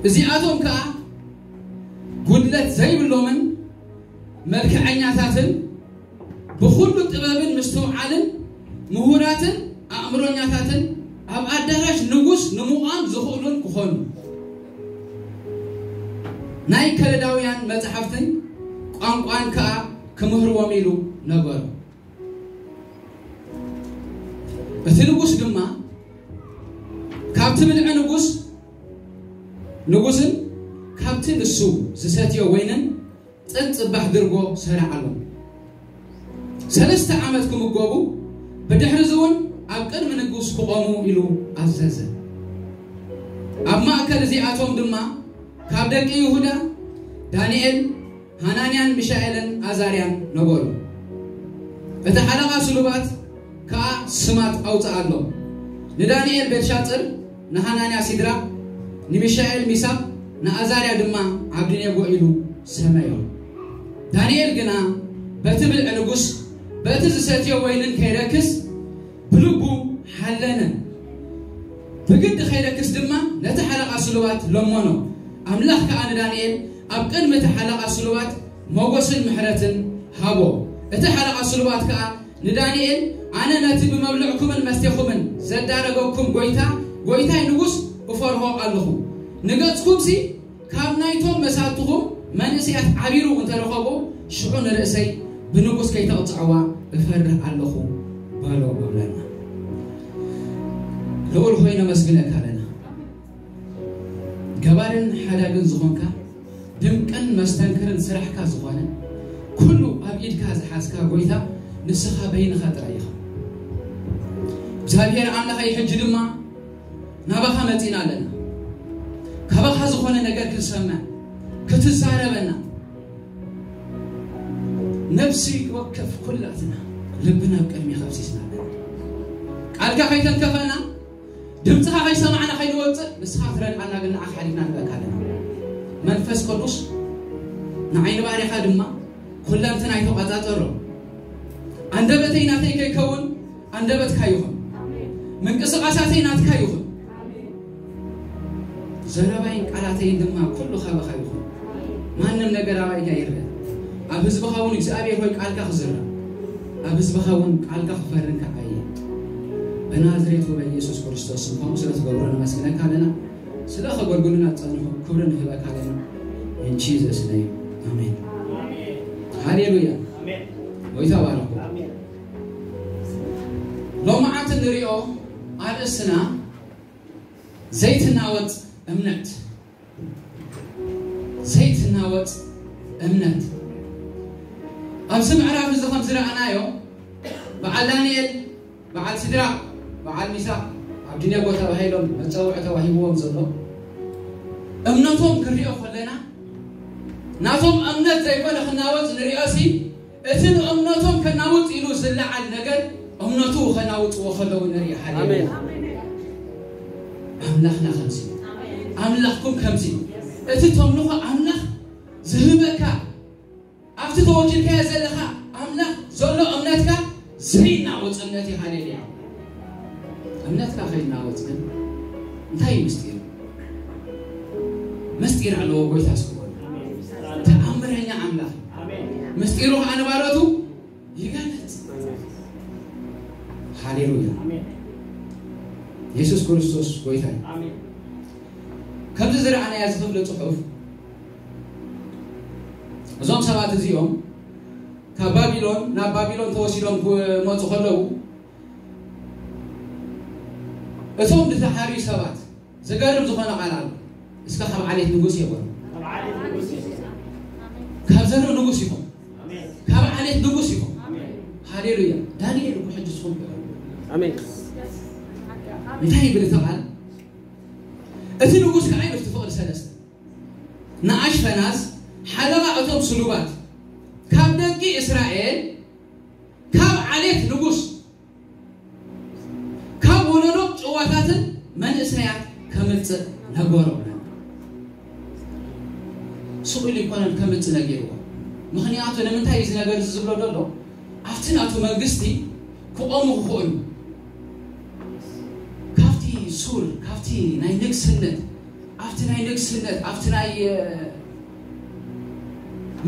እዚኣቶም ከኣ ጉድለት ዘይብሎምን መልክዐኛታትን ብኹሉ ጥበብን ምስትውዓልን ምሁራትን ኣእምሮኛታትን ኣብ ኣዳራሽ ንጉስ ንምዃን ዝኽእሉን ክኾኑ ናይ ከለዳውያን መጻሕፍትን ቋንቋን ከኣ ክምህርዎም ኢሉ ነገሩ። እቲ ንጉስ ድማ ካብቲ ብልዒ ንጉስ ንጉስን ካብቲ ንሱ ዝሰትዮ ወይንን ጽን ጽባሕ ድርጎ ሰራዓሎም። ሰለስተ ዓመት ክምገቡ ብድሕሪ እዚ እውን ኣብ ቅድሚ ንጉስ ክቖሙ ኢሉ ኣዘዘ። ኣብ ማእከል እዚኣቶም ድማ ካብ ደቂ ይሁዳ ዳንኤል፣ ሃናንያን ሚሻኤልን ኣዛርያን ነበሩ። እቲ ሓለቓ ስሉባት ከኣ ስማት ኣውጽኣሎም። ንዳንኤል ቤልሻጽር፣ ንሃናንያ ሲድራቅ፣ ንሚሻኤል ሚሳቅ፣ ንኣዛርያ ድማ ዓብድኔጎ ኢሉ ሰመዮ። ዳንኤል ግና በቲ ብልዒ ንጉስ፣ በቲ ዝሰትዮ ወይንን ከይረክስ ብልቡ ሓለነ። ብግዲ ከይረክስ ድማ ነቲ ሓለቓ ስሉባት ለመኖ። ኣምላኽ ከኣ ንዳንኤል ኣብ ቅድሚ እቲ ሓለቓ ስሉባት ሞገስን ምሕረትን ሃቦ። እቲ ሓለቓ ስሉባት ከኣ ንዳንኤል፣ ኣነ ነቲ ብመብልዕኩምን መስቴኹምን ዘዳረገኩም ጐይታ፣ ጐይታይ ንጉስ እፈርሆ ኣለኹ። ንገጽኩምሲ ካብ ናይቶም መሳትኹም መንእሰያት ዓቢሩ እንተረኸቦ፣ ሽዑ ንርእሰይ ብንጉስ ከይተቕጽዕዋ እፈርህ ኣለኹ በሎ እብለና። ልዑል ሆይ ነመስግነካ ኣለና። ገባርን ሓዳግን ዝኾንካ፣ ድንቅን መስተንክርን ስራሕካ ዝኾነ፣ ኩሉ ኣብ ኢድካ ዝሓዝካ ጐይታ ንስኻ በይንኻ ጥራይ ኢኻ። እግዚኣብሔር ኣምላኸይ፣ ሕጂ ድማ ናባኻ መጺና ኣለና። ካባኻ ዝኾነ ነገር ክንሰምዕ፣ ክትዛረበና፣ ነፍሲ ወከፍ ኩላትና ልብና ኣብ ቅድሜኻ ኣፍሲስና ኣለና። ቃልካ ከይተንከፈና፣ ድምፅኻ ከይሰማዕና ከይንወፅእ፣ ንስኻ ትረድኣና ግን ንዓኻ ሓሊፍና ንበካ ኣለና። መንፈስ ቅዱስ ንዓይኒ ባርያኻ ድማ ኩለንትናይ ተቋጻጸሮ። ኣንደበተይ ናተይ ከይከውን ኣንደበትካ ይኹን። ምንቅስቓሳተይ ናትካ ይኹን። ዘረባይን ቃላተይን ድማ ኩሉ ካባኻ ይኹን። ማንም ነገር ኣባይ ከይርእ፣ ኣብ ህዝብኻ እውን እግዚኣብሔር ሆይ ቃልካ ክዝራእ፣ ኣብ ህዝብኻ እውን ቃልካ ክፈርን ከዓየ። በናዝሬቱ በኢየሱስ ክርስቶስ ስም ከምኡ ስለ ትገብሮ ነመስግነካ ኣለና። ስለ ከገልግሉና ዝጸንሑ ክብሪ ንህበካ ኣለና። In Jesus name. ኣሜን። ሃሌሉያ። ኣሜን። ጎይታ ባረኹ። ኣሜን። ሎማዓንቲ ንሪኦ ኣርእስትና ዘይትናወጽ እምነት። ዘይትናወጽ እምነት። ኣብዚ ምዕራፍ እዚ ከም ዝረኣናዮ፣ በዓል ዳንኤል፣ በዓል ሲድራቅ፣ በዓል ሚሳቅ፣ ኣብድኔጎ ተባሂሎም መጸውዒ ተዋሂብዎም ዘሎ እምነቶም ክንሪኦ ከለና፣ ናቶም እምነት ዘይኮነ ክናወጽ ንሪኦሲ፣ እቲ ንእምነቶም ከናውጽ ኢሉ ዝለዓል ነገር እምነቱ ከናውጽዎ ከለዉ ንርኢ። ሃሌሉያ። ኣሜን። ኣምላኽና ከምዚ፣ ኣምላኽኩም ከምዚ፣ እቲ ተምልኾ ኣምላኽ ዝህበካ፣ ኣብቲ ተወኪልካዮ ዘለኻ ኣምላኽ ዘሎ እምነትካ ዘይናወጽ እምነት እዩ። ሃሌሉያ። እምነትካ ከይናወጽ ግን እንታይ እዩ ምስጢሩ? ምስጢር ኣለዎ ጎይታ ስብሐት። ተኣምረኛ ኣምላኽ። ምስጢሩ ከዓ ንባሮቱ ይገልጽ። ሃሌሉያ። ኣሜን። የሱስ ክርስቶስ ጎይታ እዩ። ኣሜን። ከምዚ ዝረኣናያ እዚ ክፍሊ ጽሑፍ፣ እዞም ሰባት እዚኦም ካብ ባቢሎን ናብ ባቢሎን ተወሲዶም ክመጹ ከለዉ፣ እቶም ዝተሓርዩ ሰባት፣ ዘገርም ዝኾነ ቃል ኣሎ። እስከ ካብ ዓሌት ንጉስ እዮም በሉ። ካብ ዘርእ ንጉስ ኢኹም። ካብ ዓሌት ንጉስ ኢኹም። ሃሌሉያ። ዳንኤል እኮ ሕጂ ዝኾን ይበሉ። ኣሜን። እንታይ ይብል እቲ ቃል? እቲ ንጉስ ከዓ ይብል፣ እቲ ፍቕዲ ሰለስተ፣ ንኣሽፈናዝ ሓለቓ እቶም ስሉባት፣ ካብ ደቂ እስራኤል፣ ካብ ዓሌት ንጉስ፣ ካብ ወለዶ ጭዋታትን መንእሰያት ከምጽእ ነገሮ። ስቕ ኢሉ ይኮነን ከምጽእ ነጊርዎ። ምኽንያቱ ንምንታይ እዚ ነገር እዚ ዝብሎ ዘሎ? ኣብቲ ናቱ መንግስቲ ክቖሙ ክኽእሉ፣ ካብቲ ሱር፣ ካብቲ ናይ ንግስነት ኣብቲ ናይ ንግስነት ኣብቲ ናይ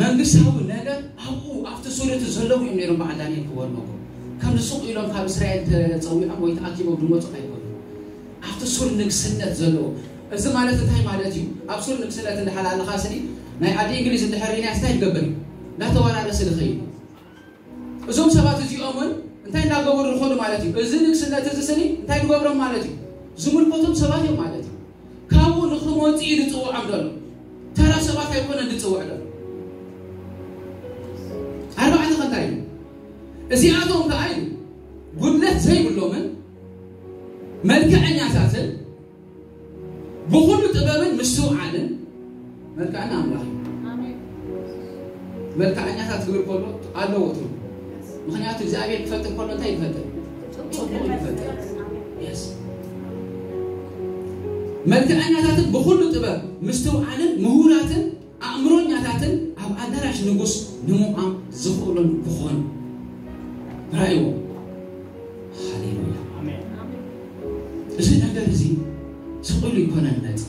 መንግስታዊ ነገር ኣብኡ ኣብቲ ሱር እቲ ዘለዉ እዮም ነይሮም። በዓል ዳንኤል ክበልመጎ ከምዚ ሱቕ ኢሎም ካብ እስራኤል ተፀዊዖም ወይ ተኣኪቦም ዝመፁ ኣይኮኑ። ኣብቲ ሱር ንግስነት ዘለዎ። እዚ ማለት እንታይ ማለት እዩ? ኣብ ሱር ንግስነት እንድሓር ኣለኻ ስኒ ናይ ዓዲ እንግሊዝ እንድሕር ሪናያ እንታይ ትገብር እዩ? እንዳተወራረሰ ዝኸይድ። እዞም ሰባት እዚኦም እውን እንታይ እንዳገበሩ ዝኸዱ ማለት እዩ? እዚ ንግስነት እዚ ስኒ እንታይ ዝገብሮም ማለት እዩ? ዝምልከቶም ሰባት እዮም ማለት እዩ። ካብኡ ንክመፅኡ እዩ ዝፅውዖም ዘሎ። ተራ ሰባት ኣይኮነን ዝፅውዕ ዘሎ። ኣርባዕተ ከንታይ እዩ? እዚኣቶም ከዓ እዩ ጉድለት ዘይብሎምን መልክዐኛታትን ብኹሉ ጥበብን ምስትውዓልን። መልክዐኛ ኣምላኽ እዩ። መልክዐኛታት ክብል ከሎ ኣለዎ ትርጉም። ምክንያቱ እግዚኣብሔር ክፈጥር ከሎ እንታይ ይፈጥር? ጽቡቅ ይፈጥር። Yes። መልክዐኛታትን ብኹሉ ጥበብ ምስትውዓልን ምሁራትን ኣእምሮኛታትን ኣብ ኣዳራሽ ንጉስ ንምቋም ዝኽእሉን ክኾኑ ራእይዎ። ሃሌሉያ። እዚ ነገር እዚ ስቕ ኢሉ ይኮነን መጽ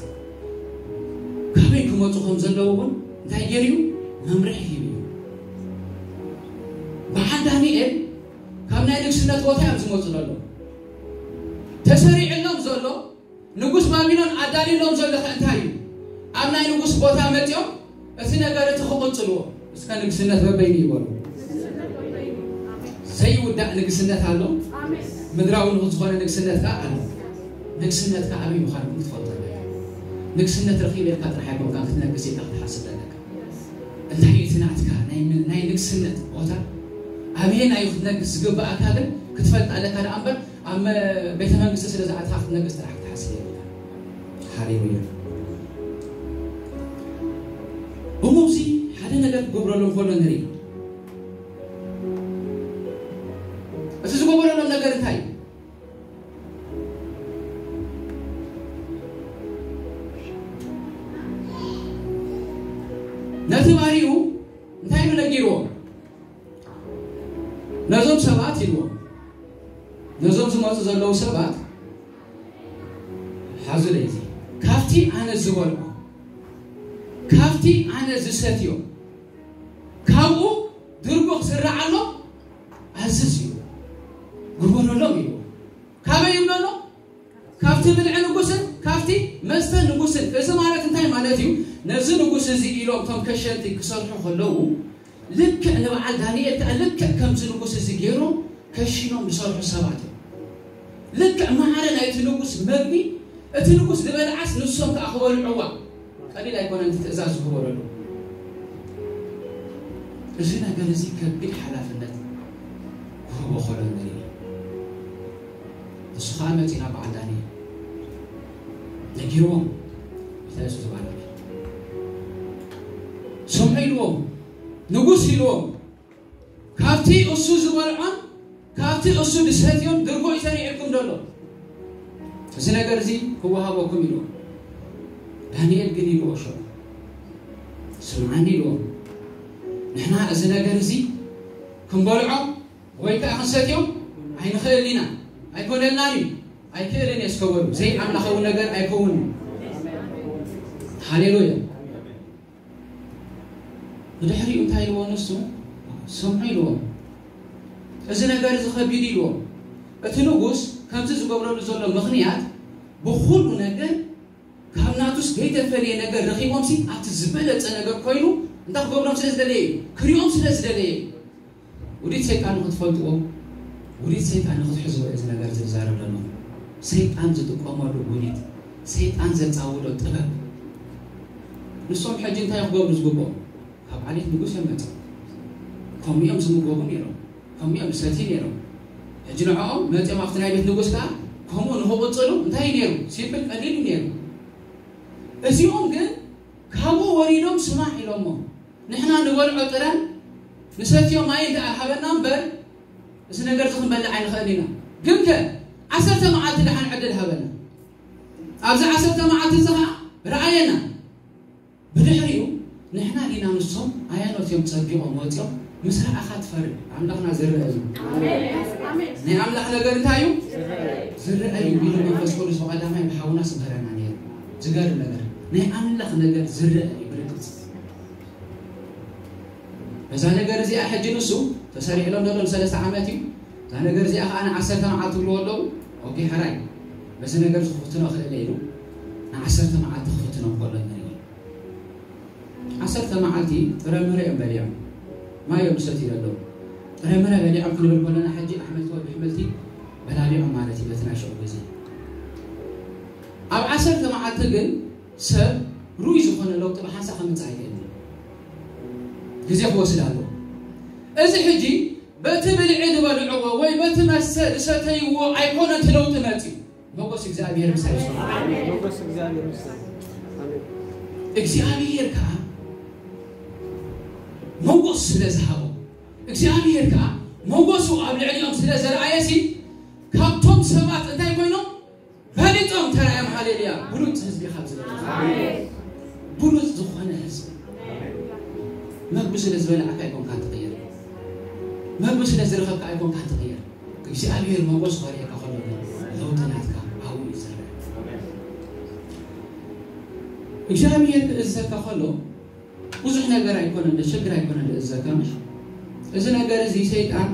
ካበይ ክመፁ ከም ዘለዉ እውን እንታይ ገይሩ እዩ? መምርሒ ሂቡ እዩ። በዓል ዳንኤል ካብ ናይ ንግስነት ቦታ እዮም ዝመፁ ዘሎ። ተሰሪዕሎም ዘሎ ንጉስ ባቢሎን ኣዳልሎም ዘሎ ከ እንታይ እዩ? ኣብ ናይ ንጉስ ቦታ መፂኦም እቲ ነገር እቲ ክቕፅልዎ እስከ ንግስነት በበይኑ ይበሉ። ዘይውዳእ ንግስነት ኣሎ። ምድራዊ ንጉስ ዝኾነ ንግስነት ከዓ ኣሎ። ንግስነት ከዓ ኣበይ ምዃኑ ክትፈልጦ ኣለካ። ንግስነት ረኺበ ኢልካ ጥራሕ ኣይኮንካ ክትነግስ ኢልካ ክትሓስብ ኣለካ። እንታይ እዩ እቲ ናትካ ናይ ምን- ናይ ንግስነት ቦታ ኣበየና እዩ ክትነግስ ዝግብኣካ ግን ክትፈልጥ ኣለካ ደኣ እምበር ኣብ መ- ቤተ መንግስቲ ስለ ዝኣትኻ ክትነግስ ጥራሕ ክትሓስብ የብልካ። ሃሌሉያ። እሞ እዚ ሓደ ነገር ክገብረሎም ከሎ ንርኢ። እቲ ዝገበረሎም ነገር እንታይ እዩ? ነቲ ባሪኡ እንታይ ኢሉ ነጊርዎም? ነዞም ሰባት ኢልዎም፣ ነዞም ዝመፁ ዘለዉ ሰባት ሓዙ ለይዚ ካብቲ ኣነ ዝበልዖ ካብቲ ኣነ ዝሰትዮ ካብኡ ድርጎ ክስርዓሎም ኣዝዝ እዩ ግበረሎም እዩ። ካበይ ይብለሎ? ካብቲ ብልዒ ንጉስን ካብቲ መስተ ንጉስን። እዚ ማለት እንታይ ማለት እዩ? ነዚ ንጉስ እዚ ኢሎም እቶም ከሸንቲ ክሰርሑ ከለዉ ልክዕ ንበዓል ዳንኤል ከዓ ልክዕ ከምዚ ንጉስ እዚ ገይሮም ከሺኖም ዝሰርሑ ሰባት እዮም። ልክዕ ማዕረ ናይቲ ንጉስ መግቢ እቲ ንጉስ ዝበልዓስ ንሶም ከዓ ክበልዕዋ ቀሊል ኣይኮነን እቲ ትእዛዝ ዝግበረሉ። እዚ ነገር እዚ ከቢድ ሓላፍነት ክህቦ ከሎ ንርኢ። እሱ ከዓ መፂና በዓል ዳንኤል ነጊርዎም። እንታይ እሱ ዝበለ ስምዑ ኢልዎም ንጉስ ኢልዎም ካብቲ እሱ ዝበልዖን ካብቲ እሱ ዝሰትዮን ድርጎ ይሰሪዕልኩም ዘሎ እዚ ነገር እዚ ክወሃበኩም ኢልዎም። ዳንኤል ግን ኢልዎ ሸ ስምዓኒ ኢልዎም ንሕና እዚ ነገር እዚ ክንበልዖ ወይ ከዓ ክንሰትዮም ኣይንኽእል ኢና። ኣይኮነልናን እዩ። ኣይክእልን እየ እስከበሉ ዘይኣምላኻዊ ነገር ኣይከውንን። ሃሌሉያ። ብድሕሪኡ እንታይ ኢልዎ ንሱ? ስምዑ ኢልዎም። እዚ ነገር እዚ ከቢድ ኢልዎም። እቲ ንጉስ ከምዚ ዝገብረሉ ዘሎ ምኽንያት ብኹሉ ነገር ካብ ናቱስ ዘይተፈለየ ነገር ረኺቦም ሲ ኣብቲ ዝበለፀ ነገር ኮይኑ እንታይ ክገብሮም ስለ ዝደለየ እዩ። ክሪኦም ስለ ዝደለየ እዩ። ውዲት ሰይጣን ንክትፈልጥዎ ውዲት ሰይጣን ንክትሕዝዎ እዚ ነገር ዝዛረብ ዘሎ ሰይጣን ዝጥቀመሉ ውዲት ሰይጣን ዘፃውዶ ጥበብ ንሶም ሕጂ እንታይ ክገብሩ ዝግብኦም ካብ ዓሌት ንጉስ እዮም መፅኦም ከምኡ እዮም ዝምገቡ ነይሮም ከምኡ እዮም ዝሰትዩ ነይሮም ሕጂ ንዕኦም መፅኦም ኣብቲ ናይ ቤት ንጉስ ከዓ ከምኡ ንክቕፅሉ እንታይ እዩ ነይሩ ሲምፕል ቀሊል እዩ ነይሩ እዚኦም ግን ካብኡ ወሪዶም ስማዕ ኢሎሞ ንሕና ንበልዖ ጥረን ንሰትዮ ማይ እንዳ ሃበና እምበር እዚ ነገር እዚ ክንበልዕ ኣይንኽእል ኢና። ግን ከ ዓሰርተ መዓልቲ ደሓን ዕድል ሃበና። ኣብዚ ዓሰርተ መዓልቲ እዚ ኸዓ ረኣየና። ብድሕሪኡ ንሕና ዲና ንሶም ኣየኖት እዮም ጸቢቖም ወጺኦም ምስ ረኣኻ ትፈርድ ኣምላኽና ዝረአ እዩ። ናይ ኣምላኽ ነገር እንታይ እዩ? ዝረአ እዩ ኢሉ መንፈስ ቅዱስ ብቐዳማይ ብሓውና ስምኸረና ነይሩ። ዝገርም ነገር፣ ናይ ኣምላኽ ነገር ዝረአ እዩ ብርግጽ። በዛ ነገር እዚኣ ሕጂ ንሱ ተሰሪዕሎም ዘሎ ንሰለስተ ዓመት እዩ። እዛ ነገር እዚኣ ከዓ ንዓሰርተ መዓልቲ ትብልዎ ኣለዉ። ኦኬ፣ ሕራይ፣ በዚ ነገር እዚ ክፍትኖ ክእል ኢሉ ንዓሰርተ መዓልቲ ክፍትኖም ከሎ ንርኢ። ዓሰርተ መዓልቲ ጥረምረ እዮም በሊዖም፣ ማይ እዮም ዝሰትዩ ዘለዉ። ጥረምረ በሊዖም ክንብል ከለና ሕጂ ኣሕምልቲ ወይ ብሕምልቲ በላሊዖም ማለት እዩ በቲ ናይ ሽዑ ግዜ። ኣብ ዓሰርተ መዓልቲ ግን ሰብ ርኡይ ዝኾነ ለውጢ ብሓንሳእ ከምጽእ ኣይክእልን እዩ። ግዜ ክወስድ ኣለዎ። እዚ ሕጂ በቲ ብልዒ ዝበልዕዎ ወይ በቲ መስተ ዝሰተይዎ ኣይኮነን እቲ ለውጢ መጺኡ። መጎስ እግዚኣብሔር ምሳይ ይኹን። ሞገስ እግዚኣብሔር ምስጋና። ኣሜን። እግዚኣብሔር ከዓ ሞጎስ ስለ ዝሃቦ፣ እግዚኣብሔር ከዓ ሞጎሱ ኣብ ልዕሊኦም ስለ ዘርኣየሲ፣ ካብቶም ሰባት እንታይ ኮይኖም በሊጦም ተራእዮም። ሃሌሉያ! ብሉጽ ህዝቢ ካብ ዝበለ፣ ብሉጽ ዝኾነ ህዝቢ። መግቢ ስለ ዝበላዕካ ኣይኮንካ ትቕየር፣ መግቢ ስለ ዝረኸብካ ኣይኮንካ ትቕየር። እግዚኣብሔር ሞጎስ ክበልየካ ከሎ ግን ለውጢ ናትካ ኣብኡ እዩ ዝረአ። እግዚኣብሔር ክእዘካ ከሎ ብዙሕ ነገር ኣይኮነን፣ ችግር ኣይኮነን ዝእዘካ፣ ምሽ? እዚ ነገር እዚ ሰይጣን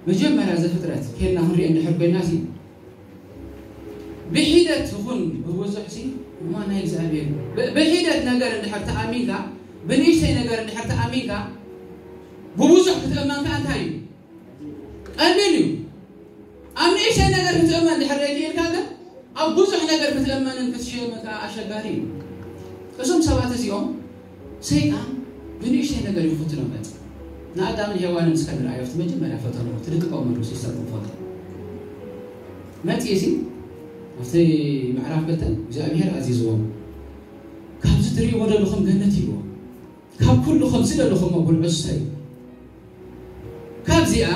መጀመርያ ዘፍጥረት ኬድና ክንሪኦ እንድሕር ኮይና ሲ፣ ብሒደት ይኹን ብብዙሕ ሲ፣ እማ ናይ እግዚኣብሔር ብ-፣ ብሒደት ነገር እንድሕር ተኣሚንካ፣ ብንእሽተይ ነገር እንድሕር ተኣሚንካ፣ ብብዙሕ ክትእመን ከኣ እንታይ እዩ? ቀሊል እዩ። ኣብ ንእሽተይ ነገር ክትእመን ድሕር ዘይክኢልካ ግን ኣብ ብዙሕ ነገር ክትእመንን ክትሽየምን ከኣ ኣሸጋሪ እዩ። እዞም ሰባት እዚኦም ሰይጣን ብንእሽተይ ነገር ይፈትኖም መጽ ንኣዳምን ሄዋንን እስከ ንርኣዮ። ኣብቲ መጀመርያ ፈተንዎ፣ እቲ ደቂ ቆመሉ ሲስተር ክንፈልጦ መጽ እዚ ኣብቲ ምዕራፍ ክልተ እግዚኣብሔር ኣዚዝዎም፣ ካብዚ ትርእይዎ ዘለኹም ገነት ይብዎ፣ ካብ ኩሉ ከምዚ ዘለኹም ብልዑ ስተዩ፣ ካብዚኣ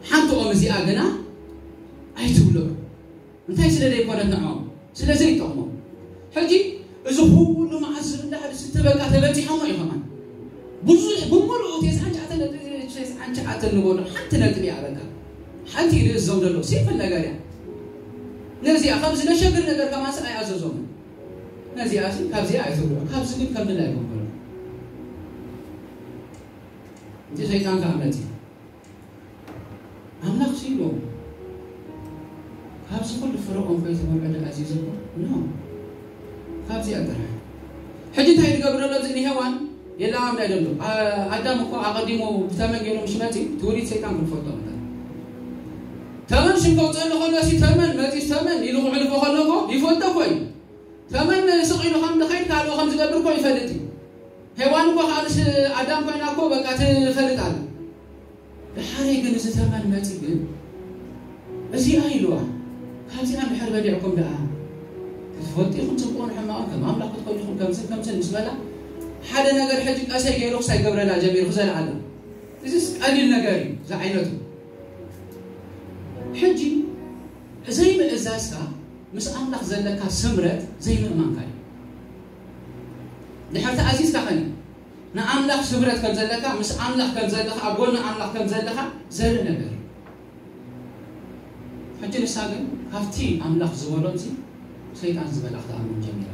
ሓንቲ ኦም እዚኣ ግና ኣይትብልዑ። እንታይ ስለ ዘይኮነት ንዕኦም? ስለ ዘይጠቕሞም። ሕጂ እዚ ኩሉ መዓስ ዝብላዕ ዝስተ በቃ ተበጺሖሞ እዩ ከማን። ብዙሕ ብምሉኡ ተስዓን ትሽዓተን ነጥቢ፣ ተስዓን ትሽዓተን ንበሎ ሓንቲ ነጥቢ እያ በቃ። ሓንቲ እዩ ዝእዞም ዘሎ። ሲምፕል ነገር እያ። ነዚኣ ከምዚ ነሸግር ነገር ከማን ኣይኣዘዞምን። ነዚኣ ሲ ካብዚኣ ኣይትብልዑ። ካብዚ ግን ከም ድላይ ይኮንኩሎ። እቲ ሰይጣን ከኣ መጺኡ። ኣምላኽ ሲኢሉ ካብዚ ኩሉ ፍረ ኦም ከይትበልዑ ድኣ ኣዚዝኩም? ኖ። ካብዚኣ ጥራሕ። ሕጂ እንታይ ትገብር ዘሎ እዚ ንሄዋን? የላም ናይ ደሎ። ኣ-፣ ኣዳም እኮ ኣቐዲሙ ብተመን ገይሩ ምሽ መጺ፣ ትውሊድ ሰይጣን ክንፈልጦ ነበር። ተመን ሽም ከውፅእ ከሎ ሲ ተመን መጺ፣ ተመን ኢሉ ክዕልፎ ከሎ እኮ ይፈልጦ እኮ እዩ። ተመን ስቕ ኢሉ ከም ዝኸይድ ካልኦ ከም ዝገብር እኮ ይፈልጥ እዩ። ሄዋን እኮ ካብ ምስ ኣዳም ኮይና እኮ በቃ ትፈልጥ ኣላ። ድሓረይ ግን እዚ ተመን መጺ ግን እዚኣ ኢልዋ። ካብዚኣ እንድሕር በሊዕኩም ደኣ ክትፈልጡ ኢኹም ጽቡቕን ሕማቕን፣ ከም ኣምላኽ ክትኮኑ ኢኹም፣ ከምዝን ከምዝን ምስ በላ፣ ሓደ ነገር ሕጂ ቀሰይ ገይሩ ክሳይ ገብረላ ጀሚሩ ክዘልዓላ። እዚስ ቀሊል ነገር እዩ፣ እዚ ዓይነቱ። ሕጂ ዘይምእዛዝካ ምስ ኣምላኽ ዘለካ ስምረት ዘይምእማንካ እዩ። ድሕር ተኣዚዝካ ኸኒ ንኣምላኽ ስምረት ከም ዘለካ፣ ምስ ኣምላኽ ከም ዘለኻ፣ ኣብ ጎኒ ኣምላኽ ከም ዘለኻ ዘርኢ ነገር እዩ። ሕጂ ንሳ ግን ካብቲ ኣምላኽ ዝበሎን ሲ ሰይጣን ዝበላ ክትኣምን ጀሚራ።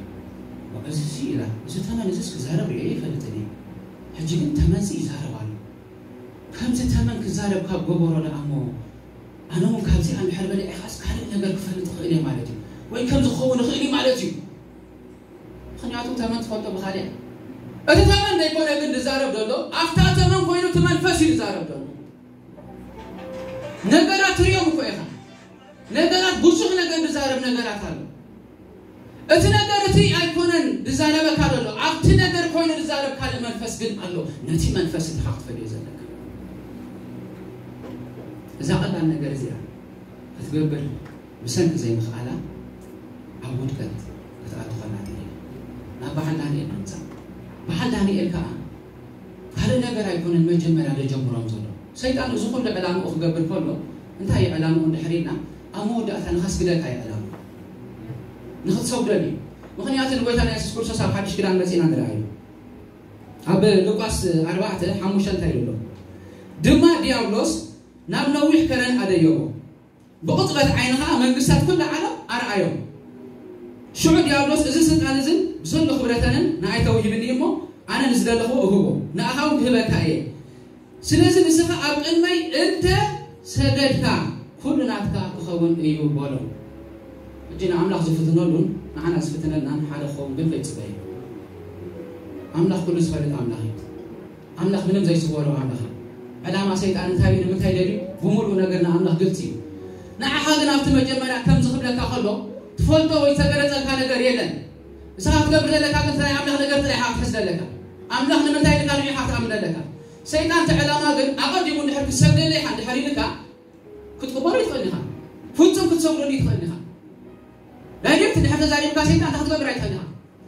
እዚ ሲ ኢላ፣ እዚ ተመን እዚስ ክዛረብ ርእየ ይፈልጥን እየ። ሕጂ ግን ተመን ሲ ይዛረብ ኣሎ። ከምዚ ተመን ክዛረብ ካብ ገበሮ ደኣ እሞ፣ ኣነ እውን ካብዚኣ እንድሕር በሊዐ ኢኻስ ካልእ ነገር ክፈልጥ እኽእል እየ ማለት እዩ። ወይ ከም ዝኸውን እኽእል እዩ ማለት እዩ። ምኽንያቱ ተመን ትፈልጦ ብኻልእ እያ። እቲ ተመን ዘይኮነ ግን ዝዛረብ ዘሎ፣ ኣብታ ተመን ኮይኑ እቲ መንፈስ እዩ ዝዛረብ ዘሎ። ነገራት ትሪኦም እኮ ኢኻ። ነገራት ብዙሕ ነገር ዝዛረብ ነገራት ኣሎ። እቲ ነገር እቲ ኣይኮነን ዝዛረበካ ዘሎ፣ ኣብቲ ነገር ኮይኑ ዝዛረብ ካልእ መንፈስ ግን ኣሎ። ነቲ መንፈስ እቲ ኢኻ ክትፈልዮ ዘለካ። እዛ ቀላል ነገር እዚኣ ክትገብር ብሰንኪ ዘይምኽኣላ ኣብ ውድቀት ክትኣቱ ከላ ትርኢ። ናብ በዓል ዳንኤል ንምጻእ። በዓል ዳንኤል ከኣ ካልእ ነገር ኣይኮነን መጀመርያ ዘጀምሮም ዘሎ። ሰይጣን እዚ ኩሉ ዕላምኡ ክገብር ከሎ እንታይ እዩ ዕላምኡ እንድሕር ኢልና፣ ኣብ መወዳእታ ንኸስግደካ እዩ ዕላምኡ። ንኽትሰግደሉ እዩ። ምኽንያቱ ንጎይታና የሱስ ክርስቶስ ኣብ ሓድሽ ኪዳን መጺእና ንርኣዮ። ኣብ ሉቃስ ኣርባዕተ ሓሙሽተ እንታይ ይብሎ? ድማ ዲያብሎስ ናብ ነዊሕ ከረን ኣደየቦ። ብቕጽበት ዓይኒ ኸኣ መንግስታት ኩሉ ዓለም ኣርኣዮም። ሽዑ ዲያብሎስ፣ እዚ ስልጣን እዝን ብሰሎ ክብረተንን ንኣይ ተውሂብኒ እሞ፣ ኣነ ንዝደለኹ እህቦ፣ ንኣኻ እውን ክህበካ እየ። ስለዚ ንስኻ ኣብ ቅድመይ እንተ ሰገድካ፣ ኩሉ ናትካ ክኸውን እዩ በሎ። ሕጂ ንኣምላኽ ዝፍትነሉን ንዓና ዝፍትነልናን ሓደ ክኸውን ግን ከይጽበ እዩ። ኣምላኽ ኩሉ ዝፈልጥ ኣምላኽ እዩ። ኣምላኽ ምንም ዘይስወሮ ኣምላኽ እዩ። ዕላማ ሰይጣን እንታይ እዩ? ንምንታይ ደልዩ? ብምሉእ ነገር ንኣምላኽ ግልጺ እዩ። ንዓኻ ግን ኣብቲ መጀመርያ ከምዚ ክብለካ ከሎ፣ ትፈልጦ ወይ ዝተገለጸልካ ነገር የለን። ንስኻ ክትገብር ዘለካ ግን ናይ ኣምላኽ ነገር ጥራይ ኢኻ ክትሕዝ ዘለካ። ኣምላኽ ንምንታይ ኢልካ ንዑ ኢኻ ክትኣምን ዘለካ። ሰይጣን እቲ ዕላማ ግን ኣቐዲሙ እንድሕር ክትሰግደለይ ኢኻ እንድሕር ኢልካ፣ ክትቕበሎ ይትኽእል ኢኻ። ፍጹም ክትሰግደሉ ይትኽእል ኢኻ። ዳይሬክት እንድሕር ተዛሪብካ ሰይጣን እንታይ ክትገብር ኣይትኽእል ኢኻ።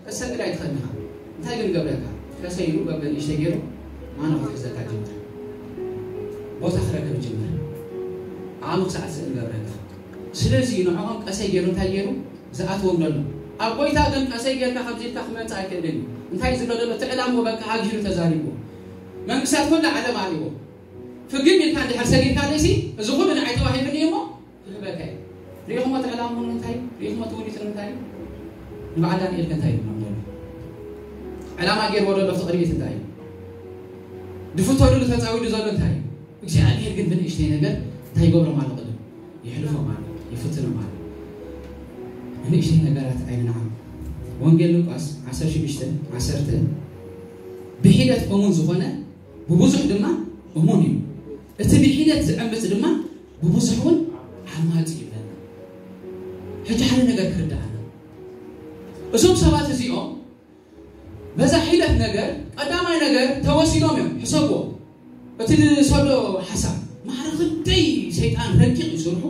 ክትሰግድ ኣይትኽእል ኢኻ። እንታይ ግን ገብረካ? ቀሰ ኢሉ በበ ንእሽተይ ገይሩ ማኖ ክትሕዘካ ጅምር። ቦታ ክረክብ ጅምር። ዓቕሚ ክሳዕ ዝስእን ገብረካ። ስለዚ ንዕኦም ቀሰ ገይሩ እንታይ ገይሩ? ዝኣትዎም ዘሎ። ኣብ ጎይታ ግን ቀሰይ ጌርካ ከምዚ ኢልካ ክመጽእ ኣይክእልን እዩ። እንታይ ዝብሎ ዘሎ? እቲ ዕላምኡ በቃ ኣግሂዱ ተዛሪቡ። መንግስታት ኩላ ዓለም ኣልዎ። ፍግም ኢልካ እንድሕር ሰጊድካ ደሲ፣ እዚ ኩሉ ንዓይ ተዋሂብኒ እዩ እሞ ክህበካ እዩ። ሪኢኹሞ እቲ ዕላምኡ እንታይ እዩ? ሪኢኹሞ እቲ ውዲቱ እንታይ እዩ? ንበዓል ዳንኤል ከ እንታይ ይብሎም ዘሎ? ዕላማ ገይርዎ ዘሎ ኣብቲ ቅድሚት እንታይ እዩ? ድፍተሉሉ ተጻዊዱ ዘሎ እንታይ እዩ? እግዚኣብሔር ግን ብንእሽተይ ነገር እንታይ ይገብሮም ኣሎ? ቅድም የሕልፎም ኣሎ፣ ይፍትኖም ኣሎ። ንእሽተይ ነገራት ኣይንንዓቕ። ወንጌል ሉቃስ ዓሰርተ ሽዱሽተ ዓሰርተ፣ ብሒደት እሙን ዝኾነ ብብዙሕ ድማ እሙን እዩ፣ እቲ ብሒደት ዝዕምፅ ድማ ብብዙሕ እውን ዓማፂ እዩ ይብለና። ሕጂ ሓደ ነገር ክርድኣና፣ እዞም ሰባት እዚኦም በዛ ሒደት ነገር ቀዳማይ ነገር ተወሲዶም እዮም። ሕሰብዎ፣ እቲ ዝሰዶ ሓሳብ ማዕረ ክንደይ ሰይጣን ረቂቕ እዩ ስርሑ።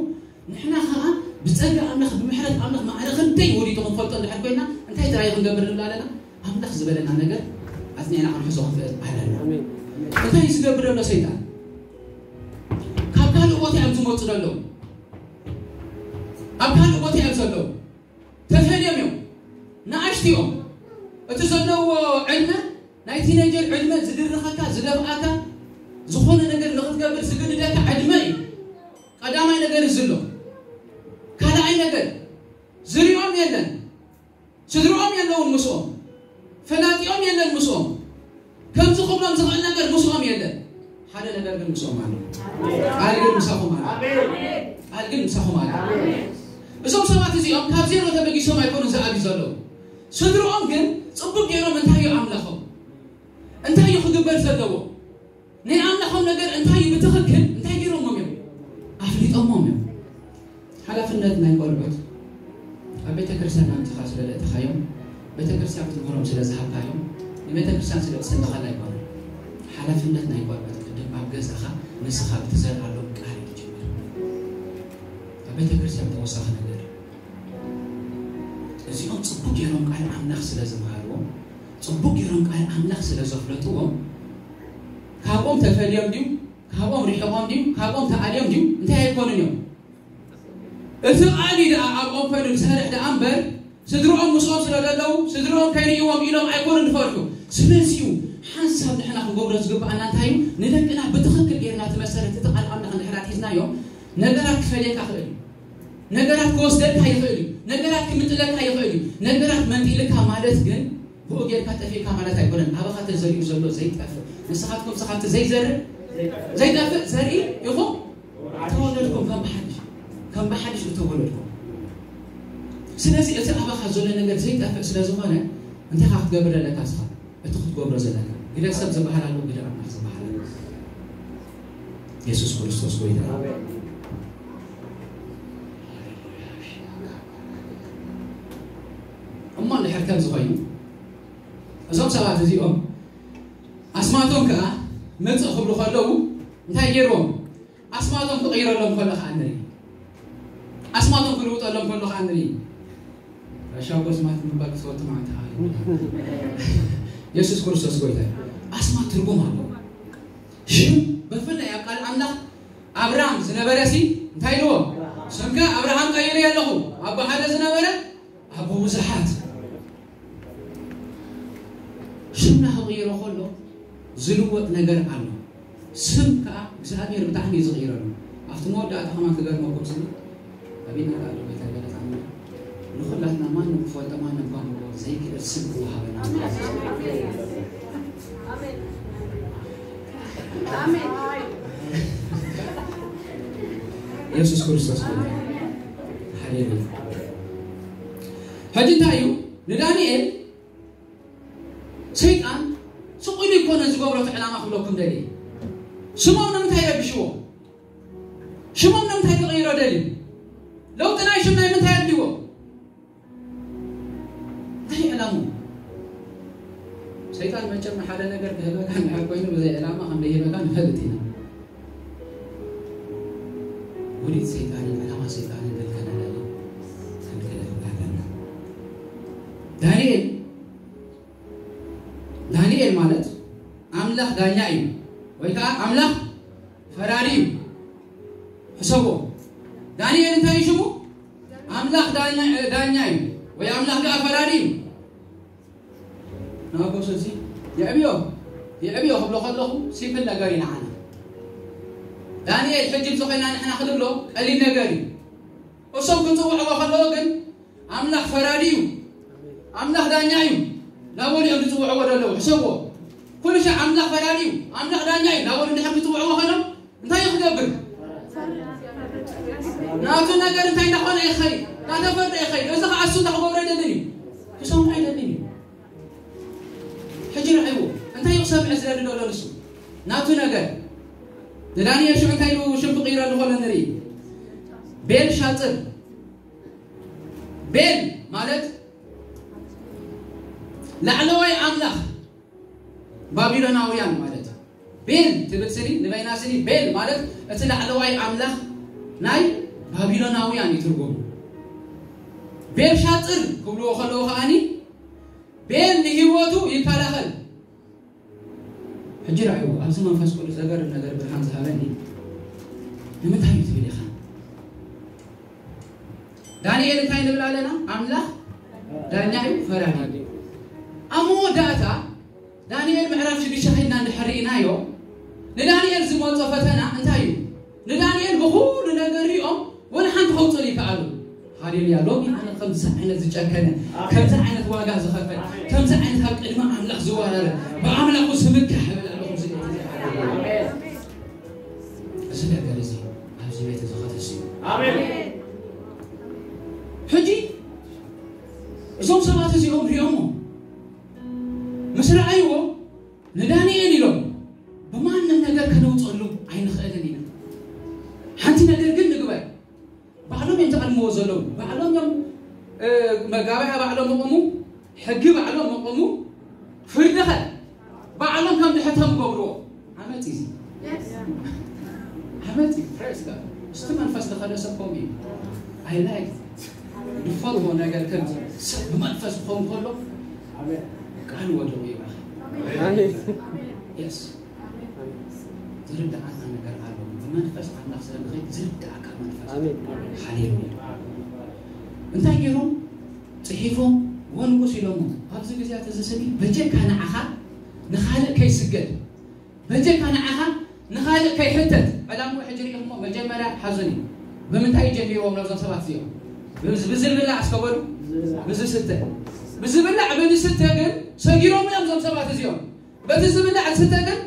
ንሕና ኸዓ ብጸጋ ኣምላኽ ብምሕረት ኣምላኽ ማዕረ ክንደይ ወዲቱ ክንፈልጦ እንድሕር ኮይና እንታይ ጥራይ ክንገብር ንብል ኣለና? ኣምላኽ ዝበለና ነገር ኣጽኒዕና ክንሕዞ ክንፍእል ኣለና። እንታይ እዩ ዝገብር ዘሎ ሰይጣን? ካብ ካልእ ቦታ እዮም ዝመፁ ዘለዉ። ኣብ ካልእ ቦታ እዮም ዘለዉ። ተፈልዮም እዮም። ንኣሽቱ እዮም። እቲ ዘለዎ ዕድመ ናይ ቲኔጀር ዕድመ ዝድርኸካ ዝደፍኣካ ዝኾነ ነገር ንኽትገብር ዝግድደካ ዕድመ እዩ። ቀዳማይ ነገር እዚ ኣሎ። ካልኣይ ነገር ዝሪኦም የለን። ስድርኦም የለውን ምስኦም። ፈላጢኦም የለን ምስኦም። ከምዚ ክብሎም ዝኽእል ነገር ምስኦም የለን። ሓደ ነገር ግን ምስኦም ኣሎ። ቃል ግን ምሳኹም ኣሎ። ቃል ግን ምሳኹም ኣሎ። እዞም ሰባት እዚኦም ካብ ዜሮ ተበጊሶም ኣይኮኑን ዝኣቢ ዘለዉ። ስድርኦም ግን ጽቡቅ ገይሮም እንታይ እዩ ኣምላኾም? እንታይ እዩ ክግበር ዘለዎ? ናይ ኣምላኾም ነገር እንታይ እዩ ብትኽክል እንታይ ገይሮሞም እዮም? ኣፍሊጦሞም እዮም። ሓላፍነት ናይ ቆልዑት ኣብ ቤተ ክርስቲያን ኣምጽኻ ስለ ዘእተኻዮም፣ ቤተ ክርስቲያን ክትምህሮም ስለ ዝሃብካዮም፣ ንቤተ ክርስቲያን ስለ ትስንኸላ ኣይኮነን። ሓላፍነት ናይ ቆልዑት ቅድም ኣብ ገዛኻ ንስኻ ብትዘርኣሎም ቃል እዩ ዝጅምር። ኣብ ቤተ ክርስቲያን ተወሳኺ ነገር፣ እዚኦም ጽቡቅ ገይሮም ቃል ኣምላኽ ስለ ዝመሃርዎም፣ ጽቡቅ ገይሮም ቃል ኣምላኽ ስለ ዘፍለጥዎም፣ ካብኦም ተፈልዮም ድዩ? ካብኦም ርሒቖም ድዩ? ካብኦም ተኣልዮም ድዩ? እንታይ ኣይኮኑን እዮም። እቲ ቃል እዩ ደኣ ኣብኦም ኮይኑ ዝሰርሕ ደኣ እምበር፣ ስድርኦም ምስኦም ስለ ዘለዉ፣ ስድርኦም ከይርእይዎም ኢሎም ኣይኮኑን ዝፈርሑ። ስለዚ እዩ ሓንሳብ ንሕና ክንገብሮ ዝግብኣና እንታይ እዩ? ንደቅና ብትኽክል ጌርና እቲ መሰረት እቲ ቃል ኣምላኽ እንድሕር ኣትሒዝናዮም፣ ነገራት ክፈልየካ ይኽእል እዩ። ነገራት ክወስደልካ ይኽእል እዩ። ነገራት ክምጥለካ ይኽእል እዩ። ነገራት መንጢልካ ማለት ግን ብኡ ጌርካ ጠፊእካ ማለት ኣይኮነን። ኣባኻ ተዘሪኡ ዘሎ ዘይጠፍእ፣ ንስኻትኩም ስኻብቲ ዘይዘርእ ዘይጠፍእ ዘርኢ ኢኹም ተወለድኩም፣ ከም ብሓድሽ፣ ከም ብሓድሽ እተወለድኩም። ስለዚ እቲ ኣባኻ ዘሎ ነገር ዘይጠፍእ ስለ ዝኾነ እንታይ ኢኻ ክትገብር ዘለካ? ስኻ እቲ ክትገብሮ ዘለካ። ግደ ሰብ ዝበሃል ኣሎ፣ ግደ ኣምላኽ ዝበሃል ኣሎ። የሱስ ክርስቶስ ጎይታ። እሞ እንድሕር ከምዚ ኮይኑ፣ እዞም ሰባት እዚኦም ኣስማቶም ከኣ መጽእ ክብሉ ከለዉ እንታይ ገይርዎም? ኣስማቶም ክቕይረሎም ከሎ ከኣ ንርኢ። ኣስማቶም ክልውጠሎም ከሎ ከኣ ንርኢ። ሻጎ ኣስማት ምባል ክፈቱ ማለት እዩ። የሱስ ክርስቶስ ጎይታ እዩ። ኣስማት ትርጉም ኣለዎ። ሽም ብፍላይ ኣብ ቃል ኣምላኽ ኣብራም ዝነበረ ሲ እንታይ ኢልዎ? ስምካ ኣብርሃም ቀይረ ኣለኹ፣ ኣቦ ሓደ ዝነበረ ኣቦ ብዙሓት። ሽምና ክቕይሮ ከሎ ዝልወጥ ነገር ኣሎ። ስም ከኣ እግዚኣብሔር ብጣዕሚ እዩ ዝቕይረሉ። ኣብቲ መወዳእታ ከማን ክገርመኩም ስኒ ኣቢና ከኣ ዶ ቤታ ገለጻ ንኹላትና ማንም ፈልጠማ ነባምዎ ዘይክእል ስም ክወሃበና። የሱስ ክርስቶስ ጎይታ። ሃሌሉያ። ሕጂ እንታይ እዩ? ንዳንኤል ሰይጣን ስቕ ኢሉ ይኮነ ዝገብሮ እቲ ዕላማ ክብለኩም ደልየ። ሽሞም ንምንታይ ይረብሽዎ? ሽሞም ንምንታይ ክቕይሮ ደልዩ? ለውጢ ናይ ሽም ናይ ምንታይ ኣድልዎ? እንታይ ዕላሙ? ሰይጣን መቸም ሓደ ነገር ክህበካ እንድሕር ኮይኑ ብዘይ ዕላማ ከም ዘይህበካ ንፈልጥ ኢና። ውዲት ሰይጣንን ዕላማ ሰይጣንን ግን ከነለለ ክንክእል ኣለና። ዳንኤል ዳንኤል ማለት ኣምላኽ ዳኛ እዩ ወይ ከዓ ኣምላኽ ፈራዲ እዩ። ሕሰቦ። ዳንኤል እንታይ እዩ ሽሙ? ኣምላኽ ዳኛ እዩ ወይ ኣምላኽ ከዓ ፈራዲ እዩ። ንኣቦስ እዚ የዕብዮ የዕብዮ ክብሎ ከለኹ ሲምፕል ነገር እዩ ንዓና። ዳንኤል ሕጂ ብዝኾይና ንሕና ክንብሎ ቀሊል ነገር እዩ። እሶም ክፅውዕዎ ከለዎ ግን ኣምላኽ ፈራዲ እዩ፣ ኣምላኽ ዳኛ እዩ ናበሉ እዮም ዝፅውዕዎ ዘለዉ። ሕሰብዎ። ኩሉ ሻዕ ኣምላኽ ፈራዲ እዩ፣ ኣምላኽ ዳኛ እዩ ናበሉ እንድሕር ክፅውዕዎ ከሎም እንታይ እዩ ክገብር? ናቱ ነገር እንታይ እንዳኾነ ይኸይድ፣ እናተፈርደ ይኸይድ። እዚ ከዓ እሱ እንዳክገብሮ ኣይደልን እዩ፣ ክሰምዖ ኣይደልን እዩ። ሕጂ ርኣይዎ እንታይ እዩ ክሰምዕ ዝደሊ ዘሎ ንሱ ናቱ ነገር። ንዳንኤል ሽዑ እንታይ ኢሉ ሽም ክቕይረሉ ከሎ ንርኢ። ቤል ሻጥር። ቤል ማለት ላዕለዋይ ኣምላኽ ባቢሎናውያን ማለት እዩ። ቤል ትብል ስኒ ንበይና ስኒ ቤል ማለት እቲ ላዕለዋይ ኣምላኽ ናይ ባቢሎናውያን እዩ ትርጉሙ። ቤል ሻጥር ክብልዎ ከለዉ ከዓኒ ቤል ንህይወቱ ይከላኸል። ሕጂ ራእዩ ኣብዚ መንፈስ ቅዱስ ዘገርም ነገር ብርሃን ዝሃበኒ ንምንታይ እዩ ትብል ኢኻ? ዳንኤል እንታይ ንብል ኣለና? ኣምላኽ ዳኛ እዩ፣ ፈራዲ እዩ። ኣብ መወዳእታ ዳንኤል ምዕራፍ ሽዱሽተ ኸድና እንድሕር ርኢናዮ ንዳንኤል ዝመጾ ፈተና እንታይ እዩ? ንዳንኤል ብኹሉ ነገር ሪኦም ወላ ሓንቲ ከውፅሉ ይከኣሉ። ሃሌሉያ። ሎሚ ኣነ ከምዚ ዓይነት ዝጨከነ፣ ከምዚ ዓይነት ዋጋ ዝኸፈል፣ ከምዚ ዓይነት ኣብ ቅድሚ ኣምላኽ ዝወራረ፣ ብኣምላኹ ዝምካሕ ይብል ኣለኹ። እዚ ቤት እዚ፣ እዚ ነገር እዚ ኣብዚ ቤት እዚ ከተስዩ። ኣሜን። ሕጂ እዞም ሰባት እዚኦም ሪኦሞ ምስ ረኣይዎ ንዳንኤል ኢሎም ብማንም ነገር ከነውፀሉ ኣይንኽእልን ኢና። ሓንቲ ነገር ግን ንግበር። ባዕሎም እዮም ዝኣልምዎ ዘለዉ። ባዕሎም እዮም መጋባያ ባዕሎም መቐሙ፣ ሕጊ ባዕሎም መቐሙ፣ ፍርድኸ ባዕሎም ከም ድሕቶም ገብርዎ። ዓመፅ እዩ። ዓመፅ እዩ። ፕሬስ ጋድ። እስቲ መንፈስ ዝኸደ ሰብ ከምኡ እዩ። ኣይ ላይክ ድፈርዎ ነገር ከም ሰብ ብመንፈስ ክኸውን ከሎ ቃል ወደው ይባል። የስ ዝርዳኣና ነገር ኣሎ። ብመንፈስ ኣምላኽ ስለ ንኸይድ ዝርዳኣካ መንፈስ። ሃሌሉያ። እንታይ ገይሮም ፅሒፎም ወንቁስ ኢሎሞ ኣብዚ ግዜያት እዚ ስኒ በጀካ ንዓኻ ንኻልእ ከይስገድ በጀካ ንዓኻ ንኻልእ ከይሕተት ዕላምኡ ሕጂ ርኢኹሞ መጀመርያ ሓዙኒ ብምንታይ ጀሚርዎም ነዞም ሰባት እዚኦም ብዝብላዕ እስከበሉ ብዝስተ ብዝብላዕ ብዝስተ ግን ሰጊሮም እዮም እዞም ሰባት እዚኦም በቲ ዝብላዕ ዝስተ ግን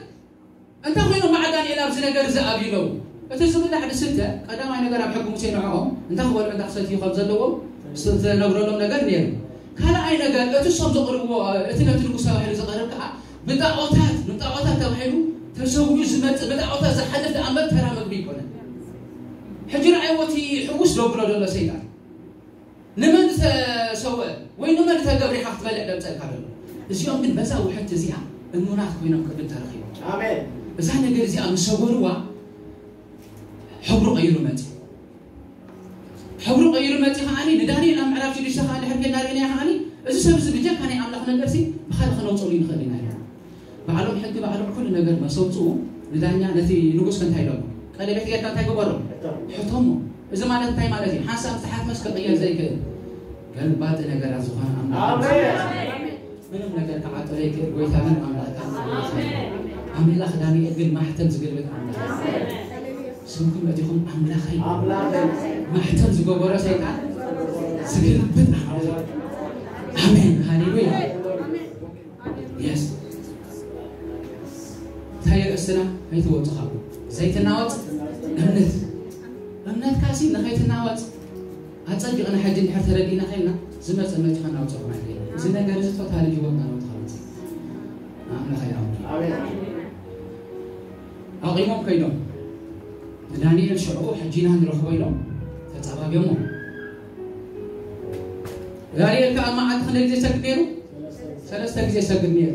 እንታይ ኮይኑ መዓ ዳንኤል ኣብዚ ነገር እዚ ኣብዩ ኣለዉ እቲ ዝብላዕ ዝስተ ቀዳማይ ነገር ኣብ ሕጊ ሙሴ ንዕኦም እንታይ ክበልዑ እንታይ ክሰትዩ ከም ዘለዎም ዝተነግረሎም ነገር ነይሩ ካልኣይ ነገር እቲ እሶም ዘቕርብዎ እቲ ነቲ ንጉስ ተባሂሉ ዝቐርብ ከዓ ብጣዖታት ንጣዖታት ተባሂሉ ተሰዊኡ ዝመፅእ ብጣዖታት ዝሓልፍ ደኣ እምበር ተራ ምግቢ ይኮነን ሕጂ ንዓይዎ እቲ ሕውስ ዘብሎ ዘሎ ሰይጣን ንመን ዝተሰወ ወይ ንመን ዝተገብረ ኢኻ ክትበልዕ ደምፀልካ ዘሎ እዚኦም ግን በዛ ውሕድቲ እዚኣ እሙናት ኮይኖም ቅድም ተረኺቦም ኣሜን እዛ ነገር እዚኣ ምስ ሰጎርዋ ሕብሩ ቀይሩ መፂ ሕብሩ ቀይሩ መፂ ከዓኒ ንዳንኤል ኣብ ምዕራፍ ሽዱሽተ ከዓ ድሕር ጌና ርኢናዮ ከዓኒ እዚ ሰብ እዚ ብጀካ ናይ ኣምላኽ ነገር ሲ ብካልእ ክነውፅሉ ይንኽእል ኢና ኢልና ባዕሎም ሕጊ ባዕሎም ኩሉ ነገር መሰውፅኡ ንዳኛ ነቲ ንጉስ ከ እንታይ ኢሎሞ ቀለቤት ጌርካ እንታይ ግበሮ ሕቶሞ እዚ ማለት እንታይ ማለት እዩ ሓንሳብ ዝተሓትመስ ክቕየር ዘይክእል ገልባጢ ነገራት ዝኾነ ኣምላኽ ምንም ነገር ክዓጦ ዘይክእል ጎይታ ግን ኣምላኽካ ኣምላኽ ዳንኤል ግን ማሕተም ዝግልብጥ ኣምላኽ ስምኩም እቲኹም ኣምላኸይ ማሕተም ዝገበሮ ሰይጣን ዝግልብጥ ኣምላኽ ኣሜን፣ ሃሌሉያ። የስ እንታይ ርእስና ከይትወፁ ካብኡ ዘይትናወፅ እምነት። እምነትካ ሲ ንኸይትናወፅ ኣፀቢቕና ሕጂ እንድሕር ተረዲእና ከይና ዝመፀ መፂ ከናውፀኹም ኣይከይና። እዚ ነገር እዚ ቶታሊ ህይወትና ነው ተኸልፅ ንኣምላኽ ይኣምር። ኣቂሞም ከይዶም ንዳንኤል ሽዑ ሕጂና ንረኽቦ ኢሎም ተፃባቢዮሞ። ዳንኤል ከዓ መዓልቲ ክንደይ ግዜ ሰግድ ነይሩ? ሰለስተ ግዜ ሰግድ ነይሩ።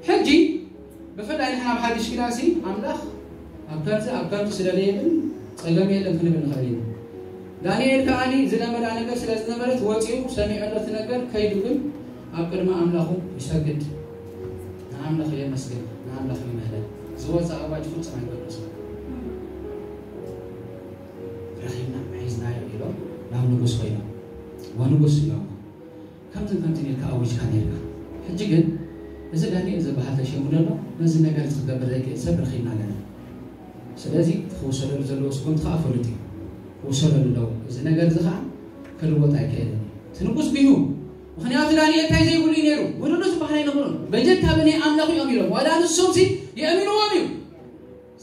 ሕጂ ብፍላይ ንሕና ኣብ ሓድሽ ኪዳን ሲ ኣምላኽ ኣብ ከምዚ ኣብ ከምዚ ስለ ዘይብል ጸገም የለን ክንብል ንኽእል ኢና። ዳንኤል ከኣኒ ዝለመዳ ነገር ስለ ዝነበረት ወጺኡ ሰሚዑ ኣሎ እቲ ነገር ከይዱ ግን ኣብ ቅድሚ ኣምላኹ ይሰግድ። ንኣምላኽ የመስግን፣ ንኣምላኽ ይምህለል። ዝወጸ ኣዋጅ ፍጹም ኣይገደሶ። ረኺብና ሒዝናዮ ኢሎም ናብ ንጉስ ኮይኖም ወንጉስ ኢሎም ከምዚ ከምዚ ኢልካ ኣዊጅካ ነርካ። ሕጂ ግን እዚ ዳንኤል ዝበሃል ተሸሙ ዘሎ ነዚ ነገር እዚ ክገብር ዘይክእል ሰብ ረኺብና ኣለና። ስለዚ እቲ ክውሰደሉ ዘለዎ ስጉምቲ ከዓ ፍሉጥ እዩ። ክውሰደሉ ኣለዎ። እዚ ነገር እዚ ከዓ ክልወጥ ኣይክእልን እዩ። እቲ ንጉስ ብዩ ምክንያቱ ዳንኤል እንታይ ዘይብሉ እዩ ነይሩ? ጎደሎ ዝበሃል ኣይነበሮን። በጀካ ብናይ ኣምላኽ እዮም ኢሎም ዋላ ንሶም ሲ የእምንዎም እዩ።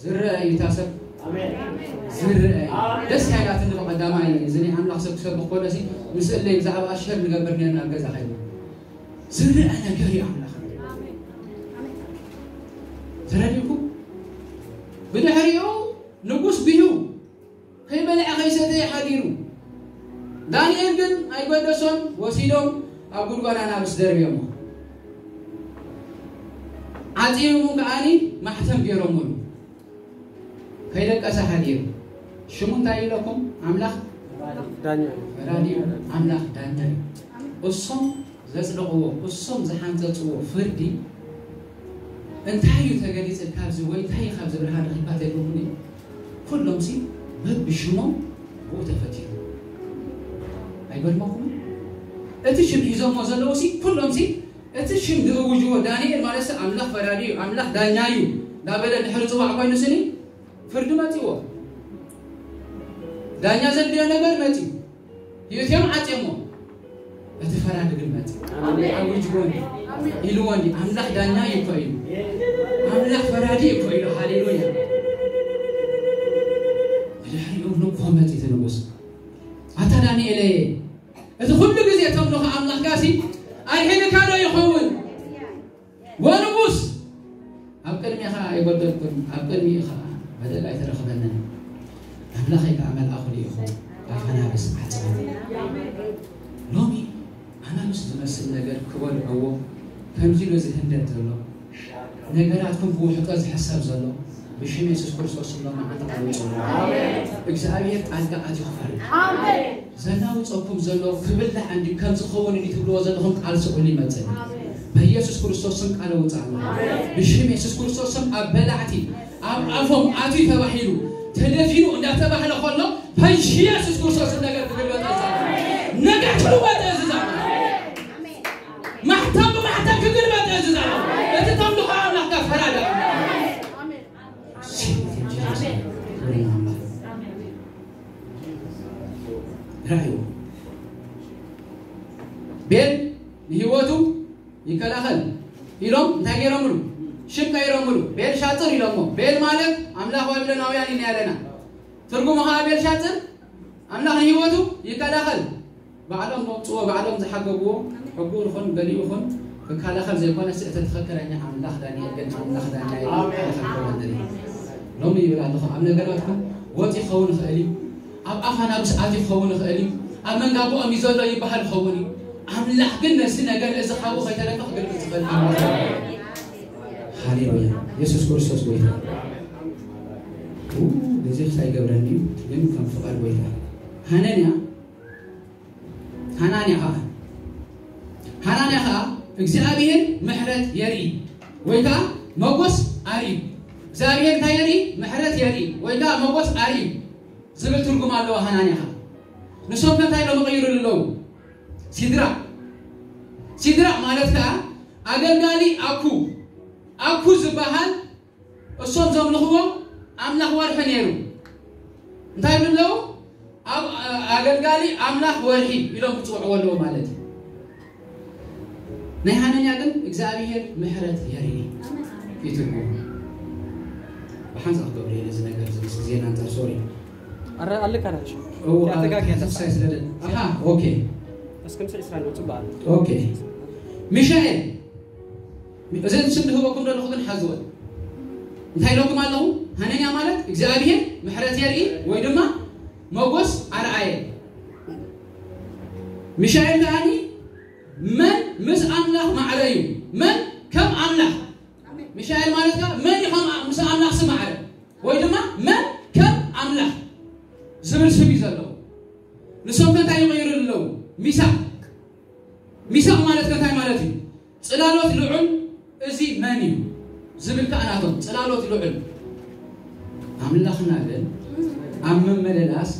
ዝረአ እዩ እታ ሰብ። ኣሜን። ዝረአ እዩ። ኣሜን። ደስ ካይላትኒ ብቐዳማይ እዚ ናይ ኣምላኽ ሰብ ክሰብኽ ከሎ ሲ ምስእለይ ብዛዕባ ኣሸር ንገብር ነርና ኣብ ገዛ ከይና ዝረአ ነገር እዩ ኣምላኽ። ተረዲእኩ? ብድሕሪኡ ንጉስ ብዩ ከይበልዐ ከይሰተየ ሓዲሩ። ዳንኤል ግን ኣይገደሶን፣ ወሲዶም ኣብ ጉድጓድ ኣናብስ ደርብዮሞ። ዓፂዮሙ ከዓኒ ማሕተም ገይሮምሉ። ከይደቀሰ ሓዲሩ። ሽሙ እንታይ ኢለኩም? ኣምላኽ ዳኛ እዩ። ፈራዲ እዩ። ኣምላኽ ዳኛ እዩ። እሶም ዘጽደቕዎ፣ እሶም ዝሓንጸጽዎ ፍርዲ እንታይ እዩ ተገሊጽ ካብዚ ወይ እንታይ እዩ ካብዚ ብርሃን ረኺብካ ተልኩምኒ? ኩሎም ሲ በብሽሞም ብኡ ተፈቲኑ። ኣይገርመኩም? እቲ ሽም ሒዞሞ ዘለዉ ሲ ኩሎም ሲ እቲ ሽም ዝእውጅዎ ዳንኤል ማለት ሲ ኣምላኽ ፈራዲ እዩ፣ ኣምላኽ ዳኛ እዩ እንዳበለ ድሕሪ ጽዋዕ ኮይኑ ስኒ ፍርዲ መጺዎ። ዳኛ ዘድልዮ ነገር መጺ። ህይወትዮም ዓጽዮሞ። እቲ ፈራዲ ግን መጺ። ኣሜን። ኣዊጅዎ እንዲ። ኣሜን። ኢልዎ እንዲ። ኣምላኽ ዳኛ እዩ እኮ ኢሉ። ኣምላኽ ፈራዲ እዩ እኮ ኢሉ። ሃሌሉያ። ብድሕሪኡ ንኮ መጺ እቲ ንጉስ። ኣታ ዳንኤለየ፣ እቲ ኩሉ ግዜ ተምልኾ ኣምላኽካ ሲ ኣድሒንካ ዶ ይኸውን? ወንጉስ ኣብ ቅድሜኻ ኣይጎደልኩን፣ ኣብ ቅድሚኡ ኸዓ በደል ኣይተረኽበንን። ኣምላኸይ ከኣ መልኣኹ ልኢኹ ኣፍ ኣናብስ ዓጸወ። ሎሚ ኣናብስ ዝመስል ነገር ክበልዕዎ ከምዚ ኢሉ ዝህንደድ ዘሎ፣ ነገራትኩም ብውሕጦ ዝሕሰብ ዘሎ፣ ብሽም የሱስ ክርስቶስ ስም ሎሚ ዓንዲ ቃል ውጽኡ። እግዚኣብሔር ጣልቃ ኣትዩ ክፈርድ። ዘናውፀኩም ዘሎ ክብላዕ እንዲ ከም ዝኸውን እንዲ ትብልዎ ዘለኹም ቃል ስዑሉ ይመፅእ። በኢየሱስ ክርስቶስ ስም ቃል እውፅእ ኣለኹ። ብሽም የሱስ ክርስቶስ ስም ኣብ በላዕቲ ኣብ ኣፎም ኣትዩ ተባሂሉ ተደፊኑ እንዳተባህለ ከሎ በኢየሱስ ክርስቶስ ስም ነገር ክግልበጥ እዛዝ። ነገር ክልወጥ እዝዛዝ። ማሕተም ብማሕተም ክግልበጥ እዝዛዝ። እቲ ተምልኾ ኣምላኽካ ፈራዳ። ራእዩ ቤል ንህይወቱ ይከላኸል ኢሎም እንታይ ገይሮምሉ? ሽም ቀይሮምሉ። ቤል ሻጥር ኢሎሞ። ቤል ማለት ኣምላኽ ባቢሎናውያን ኢና ያለና። ትርጉሙ ኸዓ ቤል ሻጥር ኣምላኽ ንህይወቱ ይከላኸል። ባዕሎም መውፅዎ፣ ባዕሎም ዝሓገግዎ፣ ሕጉ ይኹን ገሊኡ ይኹን ክከላኸል ዘይኮነ፣ ስእተ ትኽክለኛ ኣምላኽ ዳንኤል ግን ኣምላኽ ዳንኤል ኣሜን። ይከላኸል ክኸውን እዩ። ሎሚ ይብል ኣለኹ፣ ኣብ ነገራትኩም ወጥ ይኸውን ይኽእል እዩ፣ ኣብ ኣፋና ብስዓት ይኸውን ይኽእል እዩ፣ ኣብ መንጋቦኦም እዩ ዘሎ ይበሃል ይኸውን እዩ። ኣምላኽ ግን ነዚ ነገር እዚ ካብኡ ከይተረፈ ክገልጽ ዝኽእል ኣምላኽ እዩ። ሃሌሉያ። የሱስ ክርስቶስ ጎይታ። ኡ፣ በዚ ክሳይ ገብረኒ ግን ከም ፍቓድ ጎይታ። ሃነንያ፣ ሃናንያ ኸዓ፣ ሃናንያ ኸዓ እግዚኣብሔር ምሕረት የርኢ ወይ ከዓ መጎስ ኣርኢ። እግዚኣብሔር እንታይ የርኢ? ምሕረት የርኢ ወይ ከዓ መጎስ ኣርኢ ዝብል ትርጉም ኣለዎ። ሃናንያ ኸዓ ንሶም ከ እንታይ ኢሎም ይቕይሩሉ ኣለዉ? ሲድራቅ። ሲድራቅ ማለት ከዓ ኣገልጋሊ ኣኩ፣ ኣኩ ዝበሃል እሶም ዘምልኽዎ ኣምላኽ ወርሒ ነይሩ። እንታይ ይብሉ ኣለዉ? ኣብ-፣ ኣገልጋሊ ኣምላኽ ወርሒ ኢሎም ክጽውዕዎ ኣለዎ ማለት እዩ። ናይ ሃነንያ ግን እግዚኣብሔር ምሕረት የርኢ እዩ ትርጉሙ። ብሓንሳእ ክገብር እየ ነዚ ነገር እዚ ምስ ግዜና ኣንጻር ሶሪ። ኣረ ኣለካ ናሽ እው ያተጋግያ ተስፋ ስለደ ኣሃ ኦኬ እስክም ስዒ ስራ ነው ጽባል ኦኬ ሚሻኤል እዚ ስም ዝህበኩም ዘለኹ ግን ሓዝወ እንታይ ኢለኩም ኣለኹ? ሃነንያ ማለት እግዚኣብሔር ምሕረት የርኢ ወይ ድማ መጎስ ኣርኣየ። ሚሻኤል ከዓኒ መን ምስ ኣምላኽ ማዕረ እዩ? መን ከም ኣምላኽ? ሚሻኤል ማለት ከ መን እዩ ከም ምስ ኣምላኽ ዝማዕረ? ወይ ድማ መን ከም ኣምላኽ ዝብል ስም እዩ ዘለዎ። ንሶም ከ እንታይ ይቕይሩ ኣለዉ? ሚሳቕ። ሚሳቕ ማለት ከ እንታይ ማለት እዩ? ጽላሎት ልዑል እዚ መን እዩ? ዝብል ከኣ ናቶም ጽላሎት ልዑል ኣምላኽና ግን ኣብ ምምልላስ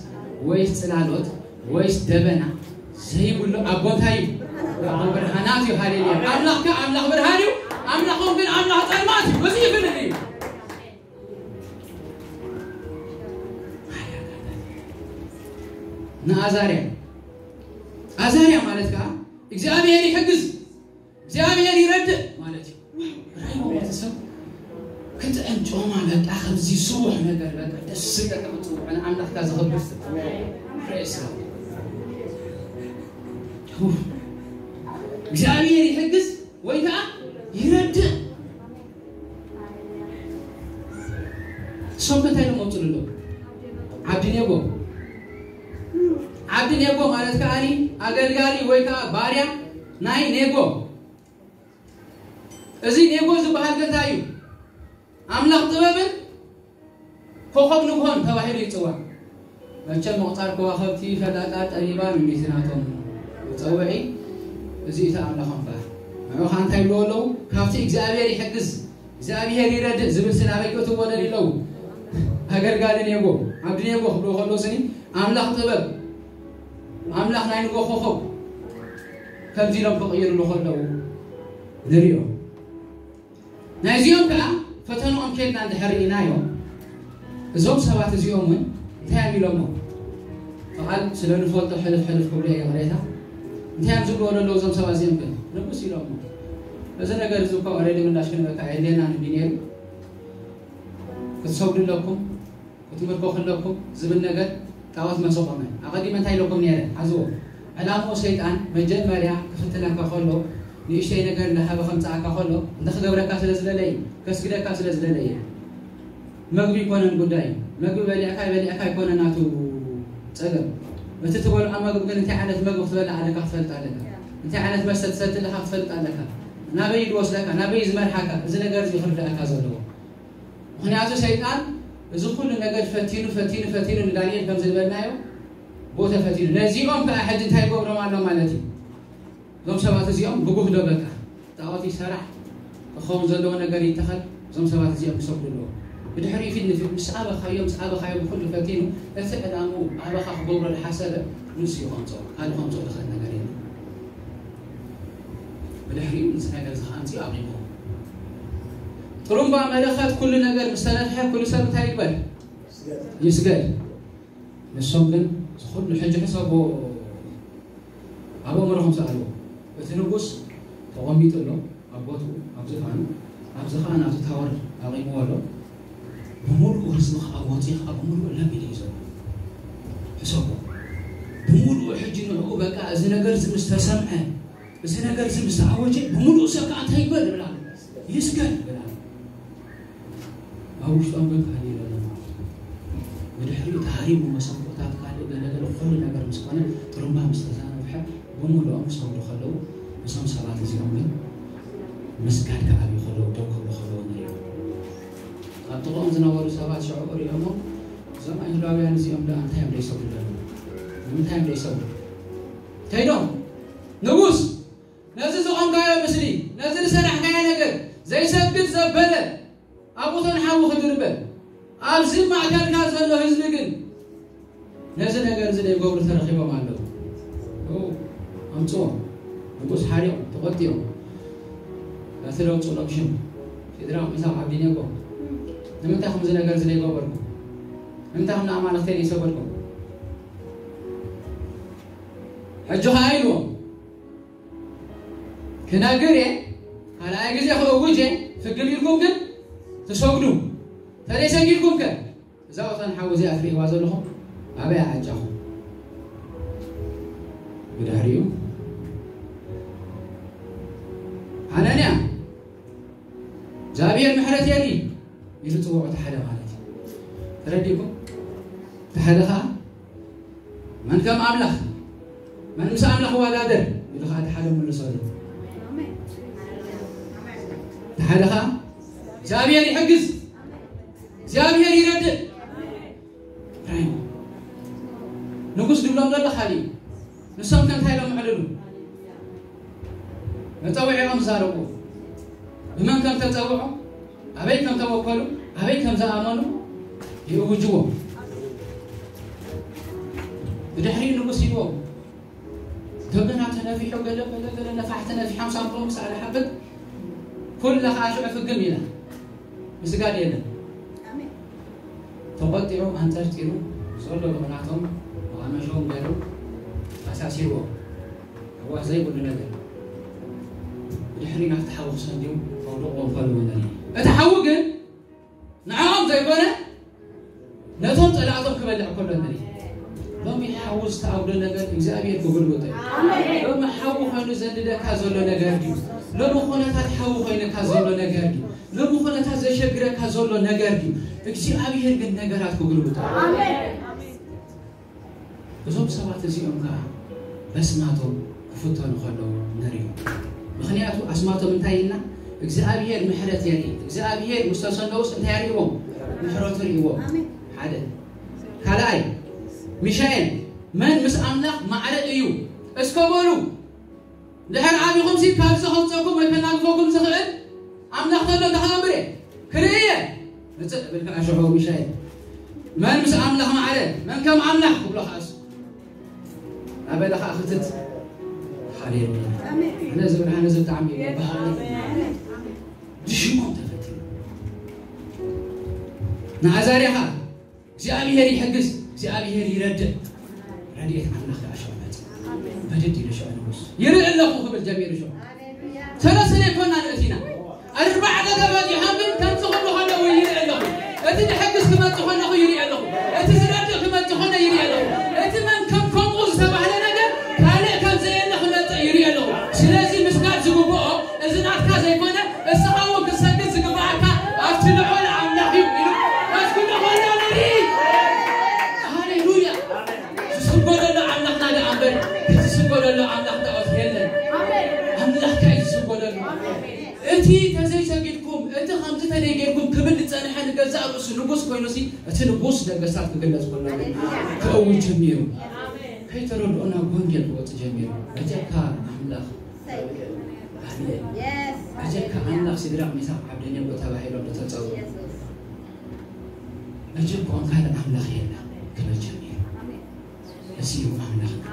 ወይስ ጽላሎት ወይስ ደበና ዘይብሉ ኣቦ እንታይ እዩ? ኣቦ ብርሃናት እዩ። ሃሌሉያ። ኣምላኽ ከ ኣምላኽ ብርሃን እዩ። ኣምላኾም ግን ኣምላኽ ጸልማት እዩ። እዚ ይፍልል እዩ። ንኣዛርያ ኣዛርያ ማለት ከዓ እግዚኣብሔር ይሕግዝ እግዚኣብሔር ይረድእ ማለት እዩ። ራይ ቤተሰብ ክጥዕም ጮማ በቃ ከምዚ ስቡሕ ነገር በቃ ደስ ዝብለካ ክትፅውዕ ንኣምላኽካ ዘኽብር ሰብ። ፕሬስ ነው። እግዚኣብሔር ይሕግዝ ወይ ከዓ ይረድእ። እሶም እንታይ ኢሎም መፅኡ ኣሎ? ዓብዲ ኔጎ። ዓብዲ ኔጎ ማለት ከዓኒ ኣገልጋሊ ወይ ከዓ ባርያ ናይ ኔጎ። እዚ ኔጎ ዝበሃል ገዛ እዩ። ኣምላኽ ጥበብን ኮኸብ ንግሆን ተባሂሉ ይፅዋዕ። መቸም ምቕፃር ከዋኸብቲ ፈላጣ ጠቢባን ሚቲ ናቶም መፀውዒ እዚ እቲ ኣምላኾም በሃል። ንዑ ከዓ እንታይ ይብልዎ ኣለዉ? ካብቲ እግዚኣብሔር ይሕግዝ እግዚኣብሔር ይረድእ ዝብል ስናበይ ክእትዎ ደልዩ ኣለዉ? ኣገልጋሊ ኔጎ ዓብዲ ኔጎ ክብልዎ ከለዉ ስኒ ኣምላኽ ጥበብ ኣምላኽ ናይ ንጎ ኮኸብ ከምዚ ኢሎም ክቕይርሉ ከለዉ ንሪኦ። ናይዚኦም ከዓ ፈተንኦም ኬድና እንድሕር ርኢናዮም እዞም ሰባት እዚኦም እውን እንታይ እዮም ኢሎሞ? ብቓል ስለ ንፈልጦ ሕልፍ ሕልፍ ክብሎ እየ ቅሬታ እንታይ እዮም ዝብልዎ ዘለዉ እዞም ሰባት እዚኦም ግን ንጉስ ኢሎሞ እዚ ነገር እዚ እኮ ኦሬዲ ምላሽ ክንበካ የድልየና ንቢ ነይሩ ክትሰግዱ ኣለኩም ክትምልኮ ከለኩም ዝብል ነገር ጣዖት መሰቆመ ኣቐዲመ እንታይ ኢለኩም ነይረ ሓዝዎ ዕላምኡ ሰይጣን መጀመርያ ክፍትነካ ከሎ ንእሽተይ ነገር እንዳሃበ ከምፅኣካ ከሎ እንታይ ክገብረካ ስለ ዝደለየ ከስግደካ ስለ ዝደለየ መግቢ ይኮነን ጉዳይ መግቢ በሊዕካ ይበሊዕካ ይኮነ ናቱ ፀገም እቲ ትበልዖ መግቢ ግን እንታይ ዓይነት መግቢ ክትበልዕ ኣለካ ክትፈልጥ ኣለካ እንታይ ዓይነት መስተ ትሰቲ ኣለካ ክትፈልጥ ኣለካ ናበይ ዝወስደካ ናበይ ዝመርሓካ እዚ ነገር እዚ ክርዳእካ ዘለዎ ምክንያቱ ሰይጣን እዚ ኩሉ ነገር ፈቲኑ ፈቲኑ ፈቲኑ ንዳንኤል ከም ዝበልናዮ ቦተ ፈቲኑ ነዚኦም ከዓ ሕጂ እንታይ ይገብሮም ኣሎ ማለት እዩ እዞም ሰባት እዚኦም ብጉህ ዶ በቃ ጣዖት ይሰራሕ ክኸውን ዘለዎ ነገር ይተኸል እዞም ሰባት እዚኦም ክሰግዱ ኣለዎ ብድሕሪኡ ፊት ንፊት ምስ ኣበኻዮ ምስ ኣበኻዮ ብኩሉ ፈቲኑ እቲ ዕላምኡ ኣበኻ ክገብሮ ዝሓሰበ ንሱ እዩ ከምፅኦ ካልእ ከምፅኦ ዝኽእል ነገር የለ ብድሕሪኡ ንዚ ነገር እዚ ከኣምፅኡ ኣቂምዎ ጥሩምባ መለኸት ኩሉ ነገር ምስ ተነፍሐ ኩሉ ሰብ እንታይ ይግበር ይስገድ ንሶም ግን ዝኩሉ ሕጂ ሕሰቦ ኣብ ኣእምሮኹም ሰኣልዎ እቲ ንጉስ ተቐሚጡ ኣሎ ኣብ ቦትኡ ኣብ ዝፋኑ ኣብዚ ከዓ ናቱ ታወር ኣቂምዎ ኣሎ ብምሉኡ ህዝቢ ከዓ ወፂ ከዓ ብምሉኡ ለሚድ እዩ ዘሎ ሕሰቦ ብምሉኡ ሕጂ ንዕኡ በቃ እዚ ነገር እዚ ምስ ተሰምዐ እዚ ነገር እዚ ምስ ተኣወጀ ብምሉኡ ሰብ ከዓ እንታይ ይግበር ይብል ኣሎ ይስገድ ይብል ኣሎ ኣብ ውሽጦም ግን ካሊእ ዘሎ ብድሕሪኡ ተሃሪሙ መሰንቆታት ካልእ ገለገለ ኩሉ ነገር ምስ ኮነ ጥሩምባ ምስ ተዛነብሐ ብምልኦም ክሰግዱ ከለዉ እዞም ሰባት እዚኦም ግን ምስጋድ ክዓብዩ ከለዉ ደው ክብሉ ከለዉ ንሪኦም ኣብ ጥቕኦም ዝነበሩ ሰባት ሽዑ ሪኦሞ እዞም ኣይሁዳውያን እዚኦም ደኣ እንታይ እዮም ደይሰግዱ ዘለዉ ንምንታይ እዮም ደይሰግዱ ከይዶም ንጉስ ነዚ ዝቖምካዮ ምስሊ ነዚ ዝሰራሕካዮ ነገር ዘይሰግድ ዘበለ ኣብኡ ተንሓዊ ክድርበ ኣብዚ ማእከልካ ዘሎ ህዝቢ ግን ነዚ ነገር እዚ ዘይገብሩ ተረኺቦም ኣለዉ ኣምፅዎም ንጉስ ሓሪቑ ተቆጢኦም ነቲ ለውፅሎም ሽም ሲድራቅ ሚሳቅ ዓብዲኔጎ ንምንታይ ከምዚ ነገር እዚ ዘይገበርኩም ንምንታይ ከም ንኣማልኽተይ ዘይሰገድኩም ሕጂ ከዓ ኢልዎም ክነግር እየ፣ ካልኣይ ግዜ ክእውጅ እየ። ፍግም ኢልኩም ግን ትሰግዱ። ተዘይሰጊድኩም ከ? እዛ ወታን ሓዊ እዚኣ ትርእይዋ ዘለኹም ኣበይ ኣዓጫኹም? ብድሕሪኡ ሓናንያ እግዚኣብሔር ምሕረት የርኢ ኢሉ ጽውዖ፣ እቲ ሓደ ማለት እዩ። ተረዲእኩም? እቲ ሓደ ኸዓ መን ከም ኣምላኽ፣ መን ምስ ኣምላኽ ይወዳደር ኢሉ ኸዓ እቲ ሓደ መልሰሉ። እቲ ሓደ ኸዓ እግዚኣብሔር ይሕግዝ፣ እግዚኣብሔር ይረድእ። ራይሞ ንጉስ ድብሎም ዘሎ ካሊእ እዩ። ንሶም ከ እንታይ ኢሎም ኣዕልሉ? መጸውዒኦም ዛረቡ። ብመን ከም ተጸውዑ፣ ኣበይ ከም ተወከሉ፣ ኣበይ ከም ዝኣመኑ ይእውጅዎም። ብድሕሪኡ ንጉስ ሂድዎም። ደገና ተነፊሑ፣ ገለ ገለ ገለ ነፋሕቲ ነፊሖም ሳምቦም ክሳዕ ዝሓብጥ፣ ኩላ ኸዓ ሽዑ ፍግም ኢላ። ምስጋድ የለን። ተቖጢዑ ኣንጠርጢሩ ዘሎ ብቕናቶም መቓመሾም ገይሩ ኣሳሲርዎ። ኣዋህ ዘይብሉ ነገር። ብድሕሪ ናብቲ ሓዊ ክሰንድዩ ከውድቕዎ ከለዉ ንርኢ። እቲ ሓዊ ግን ንዕኦም ዘይኮነ ነቶም ጸላእቶም ክበልዕ ከሎ ንርኢ። ሎሚ ሓዊ ዝተኣውደ ነገር እግዚኣብሔር ክጉልብጦ እዩ። ሎሚ ሓዊ ኮይኑ ዘንድደካ ዘሎ ነገር ድዩ? ሎሚ ኩነታት ሓዊ ኮይነካ ዘሎ ነገር ድዩ? ሎሚ ኩነታት ዘሸግረካ ዘሎ ነገር ድዩ? እግዚኣብሔር ግን ነገራት ክጉልብጦ እዩ። እዞም ሰባት እዚኦም ከዓ በስማቶም ክፍተኑ ከለዉ ንሪኦም። ምኽንያቱ ኣስማቶም እንታይ ኢልና? እግዚኣብሔር ምሕረት የርኢ። እግዚኣብሔር ምስ ተሰነውስ እንታይ ርእዎም? ምሕረቱ ርእዎም። ሓደ። ካልኣይ፣ ሚሻኤል መን ምስ ኣምላኽ ማዕረ እዩ? እስከ በሉ። ድሕር ዓቢኹም ሲ ካብዚ ከውፀኩም ወይ ከናግፈኩም ዝኽእል ኣምላኽ ተሎ እንታይ ክገብር እየ? ክርኢ እየ። ምፅእ ብልክን ኣሸሖ ሚሻኤል መን ምስ ኣምላኽ ማዕረ? መን ከም ኣምላኽ ክብሎ ከኣስ ኣበለ ከዓ ክትት። ሃሌሉያ። ኣነ ዝብል ኣነ ዝብጣዕሚ እዩ በሃሊ። ብሽሞም ተፈቲኑ ንኣዛርያ ከዓ እግዚኣብሔር ይሕግዝ፣ እግዚኣብሔር ይረድእ። ረድኤት ኣምላኽ ከዓ ሽዑ መጽእ። በደድ ኢሉ ሽዑ ንጉስ ይርኢ ኣለኹ ክብል ጀሚሩ ሽዑ። ሰለስተ ዘይኮና ንእቲና ኣርባዕተ ተባዚሖም ግን ከምዚ ክብሉ ከለዉ ይርኢ ኣለኹ። እቲ ዝሕግዝ ክመጽእ ከለኹ ይርኢ ኣለኹ። እቲ ዝረድእ ክመጽእ ከሎ ይርኢ ኣለኹ። እቲ መን ከም ከምኡ ዝተባህለ ነገር ካልእ ከም ዘየለ ክመጽእ ይርኢ ኣለኹ። ስለዚ ምስጋድ ዝግብኦ እዚ ናትካ ዘይኮነ እስኻ እውን ክትሰግድ ዝግብኣካ ኣብቲ ልዑል ኣምላኽ እዩ ኢሉ መስግኖ ከሎ ንርኢ። ሃሌሉያ። ዝስገደሉ ኣምላኽና ደኣ እምበር እቲ ዝስገደሉ ኣምላኽ ጣዖት የለን። ኣምላኽካ እዩ ዝስገደሉ። እቲ ተዘይሰጊድኩም፣ እቲ ከምዚ ተደይጌርኩም ክብል ዝጸንሐ ንገዛእ ርእሱ ንጉስ ኮይኑሲ እቲ ንጉስ ነገስታት ክግለጽ ከሎ ግን ክእውጅ ጀሚሩ። ከይተረድኦ ናብ ወንጌል ክወጽእ ጀሚሩ። በጀካ ኣምላኽ ኣሜን። በጀካ ኣምላኽ ሲድራቅ ሚሳቅ ዓብደኔጎ ተባሂሎም ዝተጸውዑ በጀካ ካልእ ኣምላኽ የለን ክብል ጀሚሩ። እዚ እዩ ኣምላኽና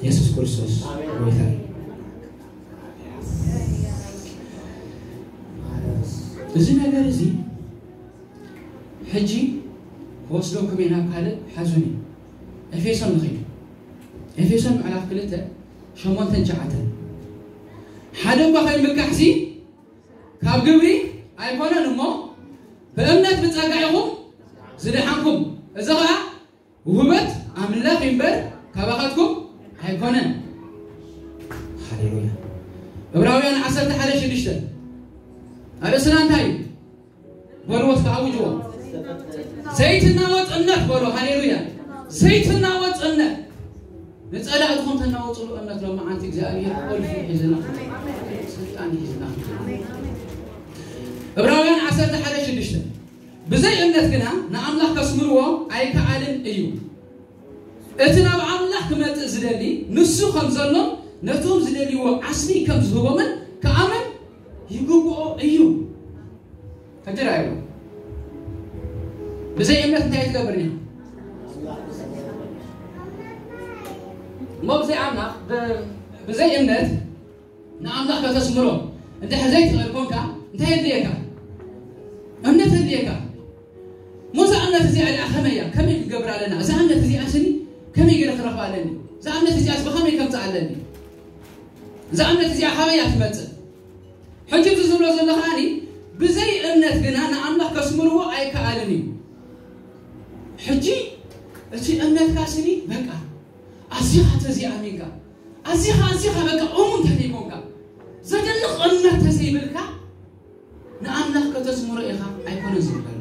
የሱስ ክርስቶስ ጎይታ እዩ። እዚ ነገር እዚ ሕጂ ክወስደኩም እየ ናብ ካልእ ሓዙኒ። ኤፌሶን ንኸይድ። ኤፌሶን ምዕራፍ ክልተ ሸሞንተን ትሽዓተን ሓደ እኳ ከይምካሕሲ ካብ ግብሪ ኣይኮነን እሞ ብእምነት ብጸጋ ኢኹም ዝደሓንኩም። እዚ ኸኣ ውህበት ኣምላኽ እምበር ካባኻትኩም ኣይኮነን። ሃሌሉያ። ዕብራውያን ዓሰርተ ሓደ ሽዱሽተ ኣርእስና እንታይ እዩ? በልዎ እስከ ኣውጅዎ። ዘይትናወጽ እምነት በሎ። ሃሌሉያ። ዘይትናወጽ እምነት። ንጸላእትኹም ተናወጽሉ እምነት ሎመዓንቲ እግዚኣብሔር ቁልፊ ሒዝና ስልጣን ሒዝና። ዕብራውያን ዓሰርተ ሓደ ሽዱሽተ ብዘይ እምነት ግና ንኣምላኽ ከስምርዎ ኣይከኣልን እዩ። እቲ ናብ ኣምላኽ ክመጽእ ዝደሊ ንሱ ከም ዘሎን ነቶም ዝደልይዎ ዓስቢ ከም ዝህቦምን ክኣምን ይግብኦ እዩ። ሕጂ ርኣይዎ። ብዘይ እምነት እንታይ ትገብር እያ? እሞ ብዘይ ኣምላኽ ብ- ብዘይ እምነት ንኣምላኽ ከተስምሮ እንድሕር ዘይትኽእል ኮንካ እንታይ የድልየካ? እምነት የድልየካ። እሞ እዛ እምነት እዚኣ ደኣ ከመይ እያ? ከመይ ክንገብር ኣለና? እዛ እምነት እዚኣ ስኒ ከመይ ገይረ ክረኽባ ኣለኒ? እዛ እምነት እዚኣስ ብኸመይ ከምፅእ ኣለኒ? እዛ እምነት እዚኣ ካበይ እያ ትመጽእ? ሕጂ እዚ ዝብሎ ዘሎ ከኣኒ፣ ብዘይ እምነት ግና ንኣምላኽ ከስምርዎ ኣይከኣልን እዩ። ሕጂ እቲ እምነትካ ስኒ በቃ ኣዚኻ ተዘይኣሚንካ፣ ኣዚኻ ኣዚኻ በቃ እሙን ተዘይኮንካ፣ ዘደንቕ እምነት ተዘይብልካ፣ ንኣምላኽ ከተስምሮ ኢኻ ኣይኮነን ዝብል ዘሎ።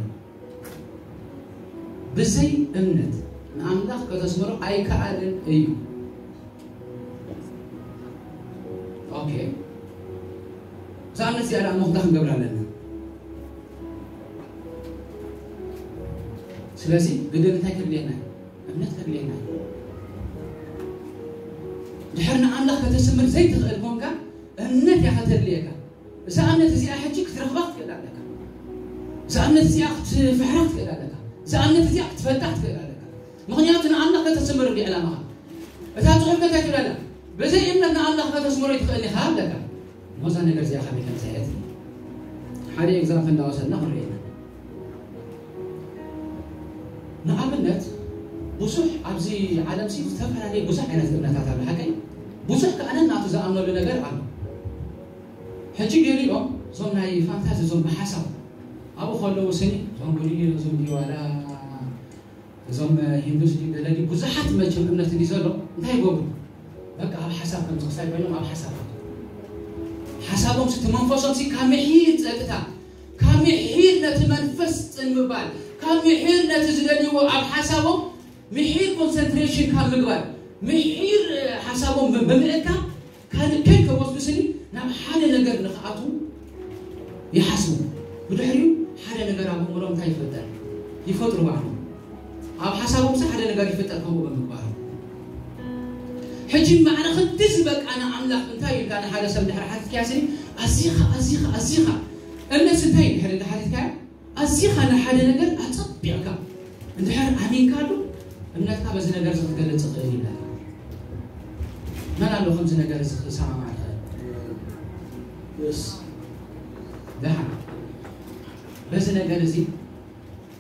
ብዘይ እምነት ንኣምላኽ ከተስምሮ ኣይከኣልን እዩ። ኦኬ፣ እዛ እምነት እዚኣ ደኣ እሞ እንታይ ክንገብር ኣለና? ስለዚ ግድን እንታይ ከድልየና እዩ? እምነት ከድልየና እዩ። ድሕር ንኣምላኽ ከተስምር ዘይትኽእል ኮንካ፣ እምነት እያ ከተድልየካ። እዛ እምነት እዚኣ ሕጂ ክትረኽባ ክትክእል ኣለካ። እዛ እምነት እዚኣ ክትፍሕራ ክትክእል ኣለካ። እዛ እምነት እዚኣ ክትፈልጣ ክትክእል ኣለካ። ምኽንያቱ ንኣምላኽ ከተስምር እንዲ ዕላማኻ። እታ ጽሑፍ ከታይ ትብለና? ብዘይ እምነት ንኣምላኽ ከተስምሮ ይትኽእል ኢኻ ኣለካ። እሞ እዛ ነገር እዚኣ ከመይ ከም ትሕየት ሓደ ኤግዛምፕል እንዳወሰድና ክንርእየና። ንኣብነት ብዙሕ ኣብዚ ዓለም ሲ ዝተፈላለየ ብዙሕ ዓይነት እምነታት ኣሎ። ሓቀይ ብዙሕ ከኣነ ናቱ ዝኣምነሉ ነገር ኣሎ። ሕጂ ገሊኦም እዞም ናይ ፋንታዚ እዞም ብሓሳብ ኣብኡ ከለዉ ስኒ እዞም ቡዲ እዞም ዲዋላ እዞም ሂንዱስ ዲ ገለ ዲ ብዙሓት መቸም እምነት እንዲ ዘሎ እንታይ ይገብሩ? በቃ ኣብ ሓሳብ ከም ዝኽሳይ ኮይኖም ኣብ ሓሳብ ሓሳቦም ሲ መንፈሶም ሲ ካብ ምሒር ጸጥታ ካብ ምሒር ነቲ መንፈስ ጽን ምባል ካብ ምሒር ነቲ ዝደልይዎ ኣብ ሓሳቦም ምሒር ኮንሰንትሬሽን ካብ ምግባር ምሒር ሓሳቦም ብምእካብ ካልእ ከይከወስዱ ስኒ ናብ ሓደ ነገር ንኽኣትዉ ይሓስቡ። ብድሕሪኡ ሓደ ነገር ኣብ ኣእምሮም እንታይ ይፈጠር ይፈጥሩ ባዕሎም ኣብ ሓሳቦም ሲ ሓደ ነገር ይፈጠር ከምኡ ብምግባሮም። ሕጂ ማዕረ ክንዲ ዝበቃ ንኣምላኽ እንታይ ኢልካ ንሓደ ሰብ ድሕሪ ሓቲትካያ ስኒ ኣዚኻ ኣዚኻ ኣዚኻ እምነት እንታይ እዩ ድሕሪ እንዳ ሓቲትካያ ኣዚኻ ንሓደ ነገር ኣጸቢቕካ እንድሕር ኣሚንካሉ እምነትካ በዚ ነገር እዚ ክትገልጽ ይኽእል ይብለካ። መን ኣሎ ከምዚ ነገር እዚ ክሰማማዕ ይኽእል? ደሓን በዚ ነገር እዚ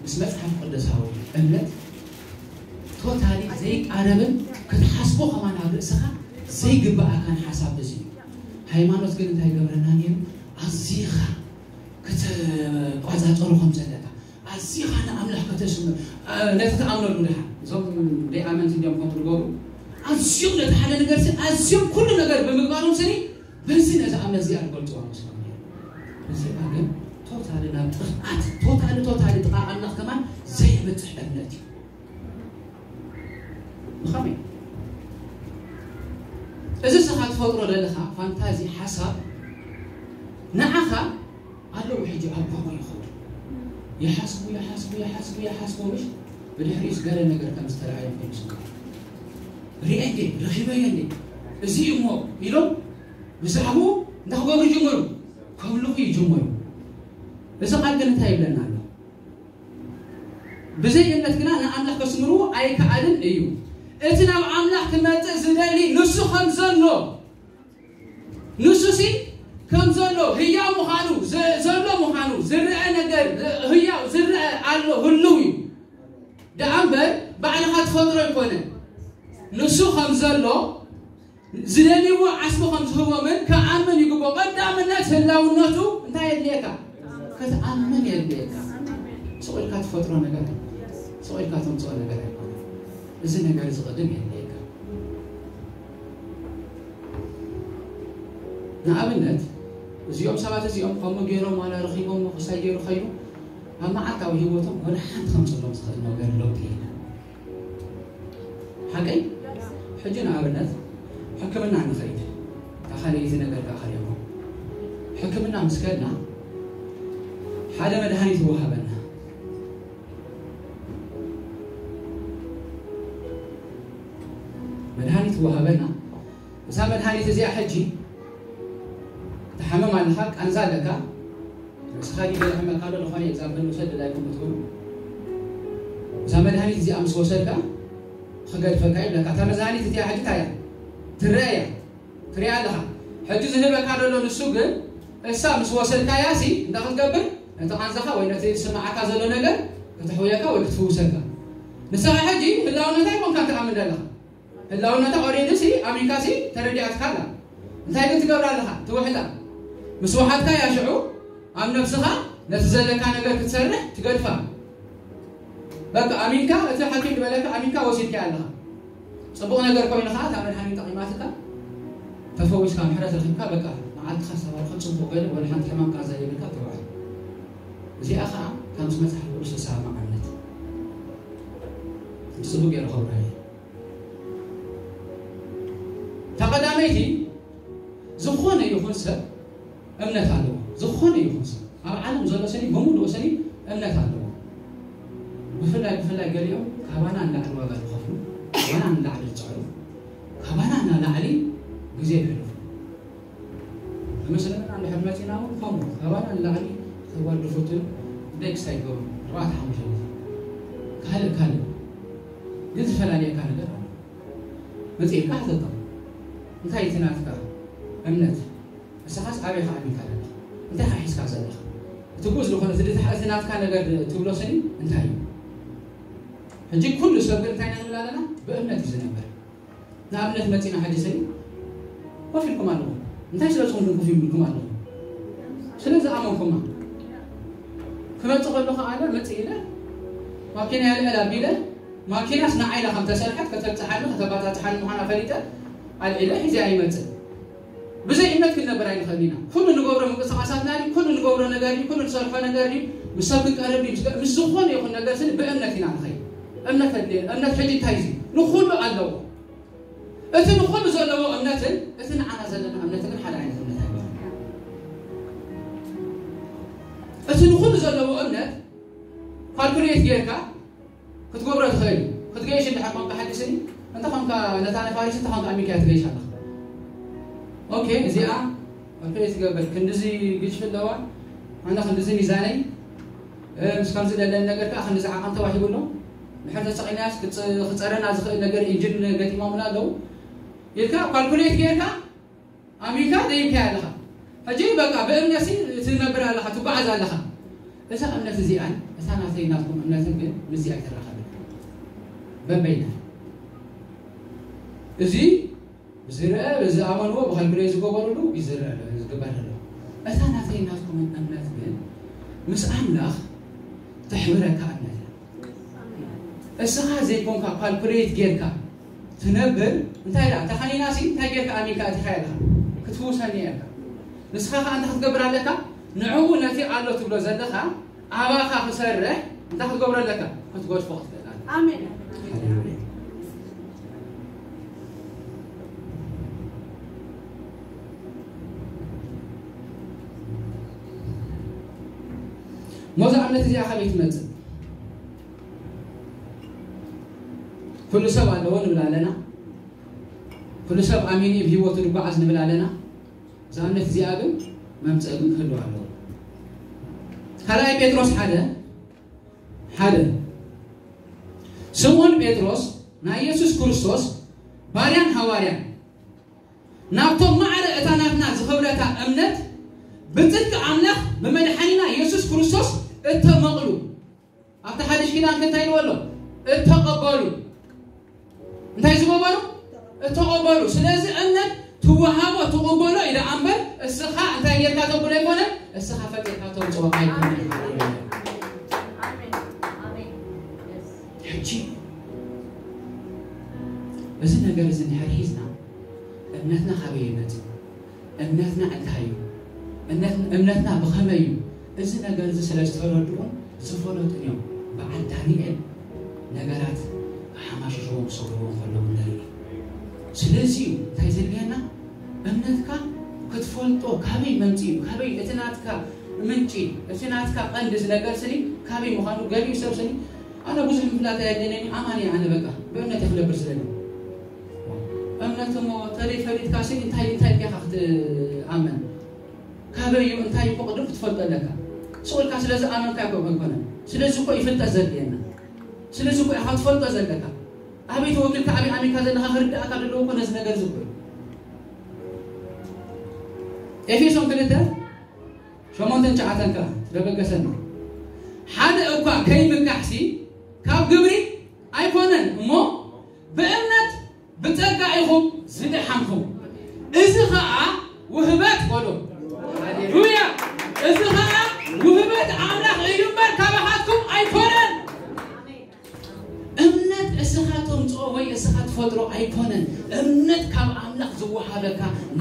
ምስ መጽሓፍ ቅዱሳዊ እምነት ቶታሊ ዘይቃረብን ክትሓስቦ ከማን ኣብ ርእስኻ ዘይግብኣካን ሓሳብ እዚ እዩ። ሃይማኖት ግን እንታይ ገብረና ነይሩ? ኣዚኻ ክትቋጻጸሮ ከም ዘለካ ኣዚኻ ንኣምላኽ ከተስምር ነቲ ትኣምነሉ ድሓ እዞም ደይኣመንቲ እንዲኦም ከም ትገብሩ ኣዝዮም ነቲ ሓደ ነገር ሲ ኣዝዮም ኩሉ ነገር ብምግባሮም ስኒ በዚ ነዚ ኣምነት እዚኣ ዝገልፅዋ መስሎም ነይሩ። እዚኣ ግን ቶታሊ ናብ ጥፍኣት ቶታሊ ቶታሊ ጥቓ ኣምላኽ ከማን ዘይበፅሕ እምነት እዩ። ብኸመይ እዚ ስኻ ትፈጥሮ ዘለኻ ፋንታዚ ሓሳብ ንዓኻ ኣለዉ ሕጂ ኣብ ጎቦ ይኸዱ ይሓስቡ ይሓስቡ ይሓስቡ ይሓስቡ ምሽ ብድሕሪኡስ ገለ ነገር ከም ዝተረኣዮም ኮይኑ ስምካ ርኤ እንዴ ረኺበዮ እንዴ እዚ እሞ ኢሎም ብዛዕባኡ እንዳክገብሩ ይጅምሩ ከምልኹ ይጅምሩ። እዚ ቃል ግን እንታይ ይብለና ኣሎ? ብዘይ እምነት ግና ንኣምላኽ ከስምርዎ ኣይከኣልን እዩ። እቲ ናብ ኣምላኽ ክመጽእ ዝደሊ ንሱ ከም ዘሎ ንሱሲ ከም ዘሎ ህያው ምዃኑ ዘሎ ምዃኑ ዝረአ ነገር ህያው ዝረአ ኣሎ ህልው እዩ። ደኣ እምበር ባዕልኻ ትፈጥሮ ኣይኮነ። ንሱ ከም ዘሎ ዝደልይዎ ዓስቢ ከም ዝህቦምን ክኣምን ይግብኦ። ቀዳምነት ህላውነቱ እንታይ የድልየካ? ክትኣምን የድልየካ። ስቕ ኢልካ ትፈጥሮ ነገር ስቕ ኢልካ ተምፅኦ ነገር ኣይኮነ። እዚ ነገር እዚ ቅድም የድልየካ። ንኣብነት እዚኦም ሰባት እዚኦም ከምኡ ገይሮም ዋላ ረኺቦም ክሳይ ገይሩ ኸይኑ ኣብ መዓልታዊ ህይወቶም ወደ ሓንቲ ከምፅሎም ዝኽእል ነገር ለውጢ የለን። ሓቀይ ሕጂ ንኣብነት ሕክምና ንኸይድ እታ ካልኣይቲ ነገር ከዓ ከሪኹ ሕክምና ምስ ከድና ሓደ መድሃኒት ይወሃበና። መድሃኒት ይወሃበና። እዛ መድሃኒት እዚኣ ሕጂ ትሓመም ኣለኻ፣ ቃንዛ ኣለካ፣ ርእስኻ ዲበ ሕመካ ኣሎ ዝኾነ ኤግዛምፕል ንውሰድ ድላይኩም እትብሉ እዛ መድሃኒት እዚኣ ምስ ወሰድካ ክገድፈካ ይብለካ። እታ መድሃኒት እቲኣ ሕጂ እንታይ እያ ትረአ እያ ትሪኣ ኣለኻ። ሕጂ ዝህበካ ዘሎ ንሱ ግን እሳ ምስ ወሰድካያ ሲ እንታይ ክትገብር ነቲ ቃንዛኻ ወይ ነቲ ዝስምዓካ ዘሎ ነገር ክትሕውየካ ወይ ክትፍውሰካ። ንስኻ ሕጂ ህላውነታ ይኮንካ ትኣምን ዘለኻ። ህላውነታ ኦሬዲ ሲ ኣሚንካ ሲ ተረዲኣትካ ኣላ። እንታይ ግን ትገብር ኣለኻ? ትውሕጣ። ምስ ውሓጥካ እያ ሽዑ ኣብ ነብስኻ ነቲ ዘለካ ነገር ክትሰርሕ ትገድፋ። በቃ ኣሚንካ፣ እቲ ሓኪም ዝበለካ ኣሚንካ ወሲድካ ኣለኻ። ጽቡቕ ነገር ኮይኑ ኸዓ እታ መድሓኒት ጠቒማትካ፣ ተፈዊስካ፣ ምሕረት ረኺብካ፣ በቃ መዓልትኻ ዝተባረኸ ጽቡቕ ገለ ወላ ሓንቲ ሕማም ቃንዛ የብልካ ትውዕል። እዚኣ ኸዓ ካብ ምስ መጽሓፍ ቅዱስ ዝሰማማዕ እምነት። ጽቡቕ ገይሩ ከብርሃ እየ። እታ ቀዳመይቲ፣ ዝኾነ ይኹን ሰብ እምነት ኣለዎ። ዝኾነ ይኹን ሰብ ኣብ ዓለም ዘሎ ሰኒ ብምሉኡ ሰኒ እምነት ኣለዎ። ብፍላይ ብፍላይ ገሊኦም ካባና ንላዕሊ ዋጋ ዝኸፍሉ፣ ካባና ንላዕሊ ዝፅዕሩ፣ ካባና ንላዕሊ ግዜ ዘሕልፉ። ብመስለና እንድሕር መፂና እውን ከምኡ ካባና ንላዕሊ ተጓድፉትን ደክስ ኣይገብሩ። ኣርባዕተ ሓሙሽተ ግዜ ካልእ ካልእ ግን ዝፈላለየካ ነገር ኣሎ። መፂእካ ሕተቶም፣ እንታይ እቲ ናትካ እምነት? ንስኻስ ኣበይ ከኣ ኣሚንካ ዘለኻ? እንታይ ከ ሒዝካ ዘለኻ? እቲ ግኡዝ ዝኾነ እቲ ድታ-፣ እቲ ናትካ ነገር ትብሎ ስኒ እንታይ እዩ? ሕጂ ኩሉ ሰብ ግን እንታይ ኢና ንብል ኣለና? ብእምነት እዩ ዝነብር። ንኣብነት መጺና ሕጂ ስኒ ኮፍ ኢልኩም ኣለኹም። እንታይ ስለ ዝኾንኩም ኮፍ ኢልኩም ኣለኹም? ስለ ዝኣመንኩማ። ክመጽእ ከሎ ከኣ ኣነ መጽእ ኢለ ማኪና የልዕል ኣቢለ ማኪናስ ንዓይ ኢላ ከም ተሰርሐት ከተብጽሓኒ ከተባጻጽሓኒ ምዃና ፈሊጠ ኣልዒለ ሒዘ ኣይመጽእ። ብዘይ እምነት ክንነብር ኣይንኽእል ኢና። ኩሉ ንገብሮ ምንቅስቓሳትና ድዩ፣ ኩሉ ንገብሮ ነገር ድዩ፣ ኩሉ ንሰርሖ ነገር ድዩ፣ ምስ ሰብ ክንቀርብ ድዩ፣ ምስ ዝኾነ ይኹን ነገር ስኒ ብእምነት ኢና ንኸይድ። እምነት ኣድልየ-፣ እምነት ሕጂ እንታይ እዩ? ንኹሉ ኣለዎ። እቲ ንኹሉ ዘለዎ እምነትን እቲ ንዓና ዘለና እምነትን ግን ሓደ ዓይነት እምነት ኣይኮነን። እቲ ንኹሉ ዘለዎ እምነት ካልኩሌት ጌርካ ክትገብሮ ትኽእል እዩ። ክትገይሽ እንድሕር ኮንካ ሓዲስኒ፣ እንተ ኾንካ ነታ ነፋሪት፣ እንተ ኾንካ ኣሚካ ትገይሽ ኣለኻ። ኦኬ፣ እዚኣ ካልኩሌት ትገብር። ክንድዚ ግጭፊ ኣለዋ፣ ኣነ ክንድዚ ሚዛነይ፣ እ፣ ምስ ከምዚ ዘለኒ ነገር ከኣ ክንድዚ ዓቐን ተዋሂቡ ኣሎ። ድሕር ተሰቒልናያስ ክጽ-፣ ክጸረና ዝኽእል ነገር ኢንጂን ገጢሞምና ኣለዉ ኢልካ ካልኩሌት ጌርካ ኣሚንካ ደይብካያ ኣለኻ። ሕጂ በቃ ብእምነትሲ ትነብር ኣለኻ፣ ትጓዓዝ ኣለኻ። እዛ እምነት እዚኣን እታ ናተይ ናትኩም እምነትን ግን ምስዚ ኣይተራኸብን። በበይና። እዚ ብዝረአ፣ ብዝኣመንዎ፣ ብካልኩሌት ዝገበሩሉ ይዝረአ ኣሎ፣ ዝግበር ኣሎ። እታ ናተይ ናትኩም እምነት ግን ምስ ኣምላኽ ተሕብረካ እምነት እያ። እስኻ ዘይኮንካ ካልኩሌት ጌርካ ትነብር፣ እንታይ ደኣ፣ ተኸኒናሲ እንታይ ጌርካ ኣሚንካ ኣቲኻ ኢኻ ክትፍውሰኒ እያ ኢልካ። ንስኻ ከኣ እንታይ ክትገብር ኣለካ? ንዕኡ ነቲ ኣሎ ትብሎ ዘለኻ ኣባኻ ክሰርሕ እንታይ ክትገብሮ ኣለካ? ክትገድፎ ክትኽእል ኣለካ። ኣሜን። ሃሌሉያ። ሞዛ እምነት እዚኣ ካበይ ትመጽእ? ኩሉ ሰብ ኣለዎ ንብል ኣለና። ኩሉ ሰብ ኣሚኑ እዩ ብህይወቱ ዝጓዓዝ ንብል ኣለና። እዛ እምነት እዚኣ ግን መምጽኢ ግን ክህልዋ ኣለዎ። ካልኣይ ጴጥሮስ ሓደ፣ ሓደ። ስምዖን ጴጥሮስ ናይ የሱስ ክርስቶስ ባርያን ሃዋርያን ናብቶም ማዕረ እታ ናትና ዝኸብረታ እምነት ብጽድቂ ኣምላኽ ብመድሓኒና የሱስ ክርስቶስ እተመቕሉ ኣብቲ ሓድሽ ኪዳን ከ እንታይ ኢልዎ ኣሎ? እተቐበሉ። እንታይ ዝገበሩ? እተቐበሉ። ስለዚ እምነት ትወሃቦ ትቕበሎ እዩ ደኣ እምበር እስኻ እንታይ ጌርካ ተብሎ ኣይኮነን፣ እስኻ ፈጢርካ ተምጽኦ ኣይኮነን። ኣሜን። ኣሜን። የስ። ሕጂ እዚ ነገር እዚ እንድሕር ሒዝና እምነትና ካበይ ይመጽእ? እምነትና እንታይ እዩ? እምነት-፣ እምነትና ብኸመይ እዩ? እዚ ነገር እዚ ስለ ዝተረድኡን ዝፈለጡን እዮም በዓል ዳንኤል ነገራት ክሓማሽሽዎም ክሰግርዎም ከለዉ ንርኢ። ስለዚ እዩ እንታይ ዘድልየና? እምነትካ ክትፈልጦ ካበይ መምጽኡ እዩ? ካበይ እቲ ናትካ ምንጪ፣ እቲ ናትካ ቀንዲ እዚ ነገር ስኒ ካበይ ምዃኑ ገሊኡ ሰብ ስኒ ኣነ ብዙሕ ምፍላጥ ኣየድልየኒ፣ ኣማኒ እየ ኣነ በቃ ብእምነት እየ ክነብር ዝደሊ። እምነት እሞ ተደይ ፈሊጥካ ሲ እንታይ፣ እንታይ ጌኻ ክትኣመን? ካበይ እዩ እንታይ እኮ ቅድም ክትፈልጦ ኣለካ። ስቕ ኢልካ ስለ ዝኣመንካ እኮ ኣይኮነን። ስለዚ እኮ እዩ ፍልጠት ዘድልየና። ስለዚ እኮ ኢኻ ትፈልጦ ዘለካ። ኣበይ ተወኪልካ ኣበይ ኣሚንካ ዘለኻ ክርድኣካ ዘለዎ እኮ ነዚ ነገር እዚ እኮ እዩ። ኤፌሶን ክልተ ሸሞንተን ትሽዓተን ከኣ ትደበገሰና። ሓደ እኳ ከይምካሕሲ ካብ ግብሪ ኣይኮነን እሞ ብእምነት ብጸጋ ኢኹም ዝደሓንኩም። እዚ ኸኣ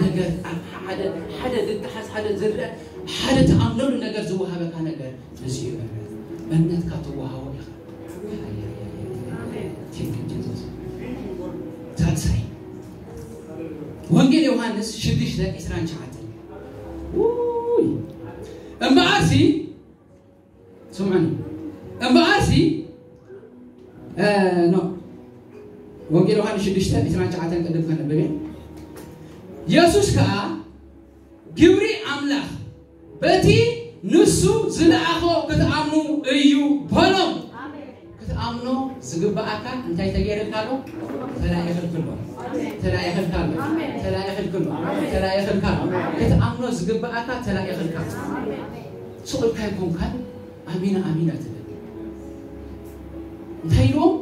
ነገር ኣብ ሓደ ሓደ ዝጠሓስ ሓደ ዝረአ ሓደ ተኣምነሉ ነገር ዝወሃበካ ነገር እዚ እዩ። እምነትካ ትወሃቦ ኢኻ። Thank you, Jesus. ሳልሳይ ወንጌል ዮሃንስ ሽዱሽተ ዕስራን ትሽዓተን። ውይ! እምበኣርሲ ስምዑኒ። እምበኣርሲ እ፣ ኖ ወንጌል ዮሃንስ ሽዱሽተ ዕስራን ትሽዓተን ቅድም ከነብብ እየ። የሱስ ከኣ ግብሪ ኣምላኽ በቲ ንሱ ዝለኣኾ ክትኣምኑ እዩ በሎም። ክትኣምኖ ዝግብኣካ እንታይ ተገይርካ ኣሎ? ተላኢኽልካ ኣሎ። ተላኢኽልካ ኣሎ። ተላኢኽልካ ኣሎ። ተላኢኽልካ ኣሎ። ክትኣምኖ ዝግብኣካ ተላኢኽልካ ኣሎ። ስቕ ኢልካ ኣይኮንካን ኣሚና ኣሚና ትብል። እንታይ ኢልዎም?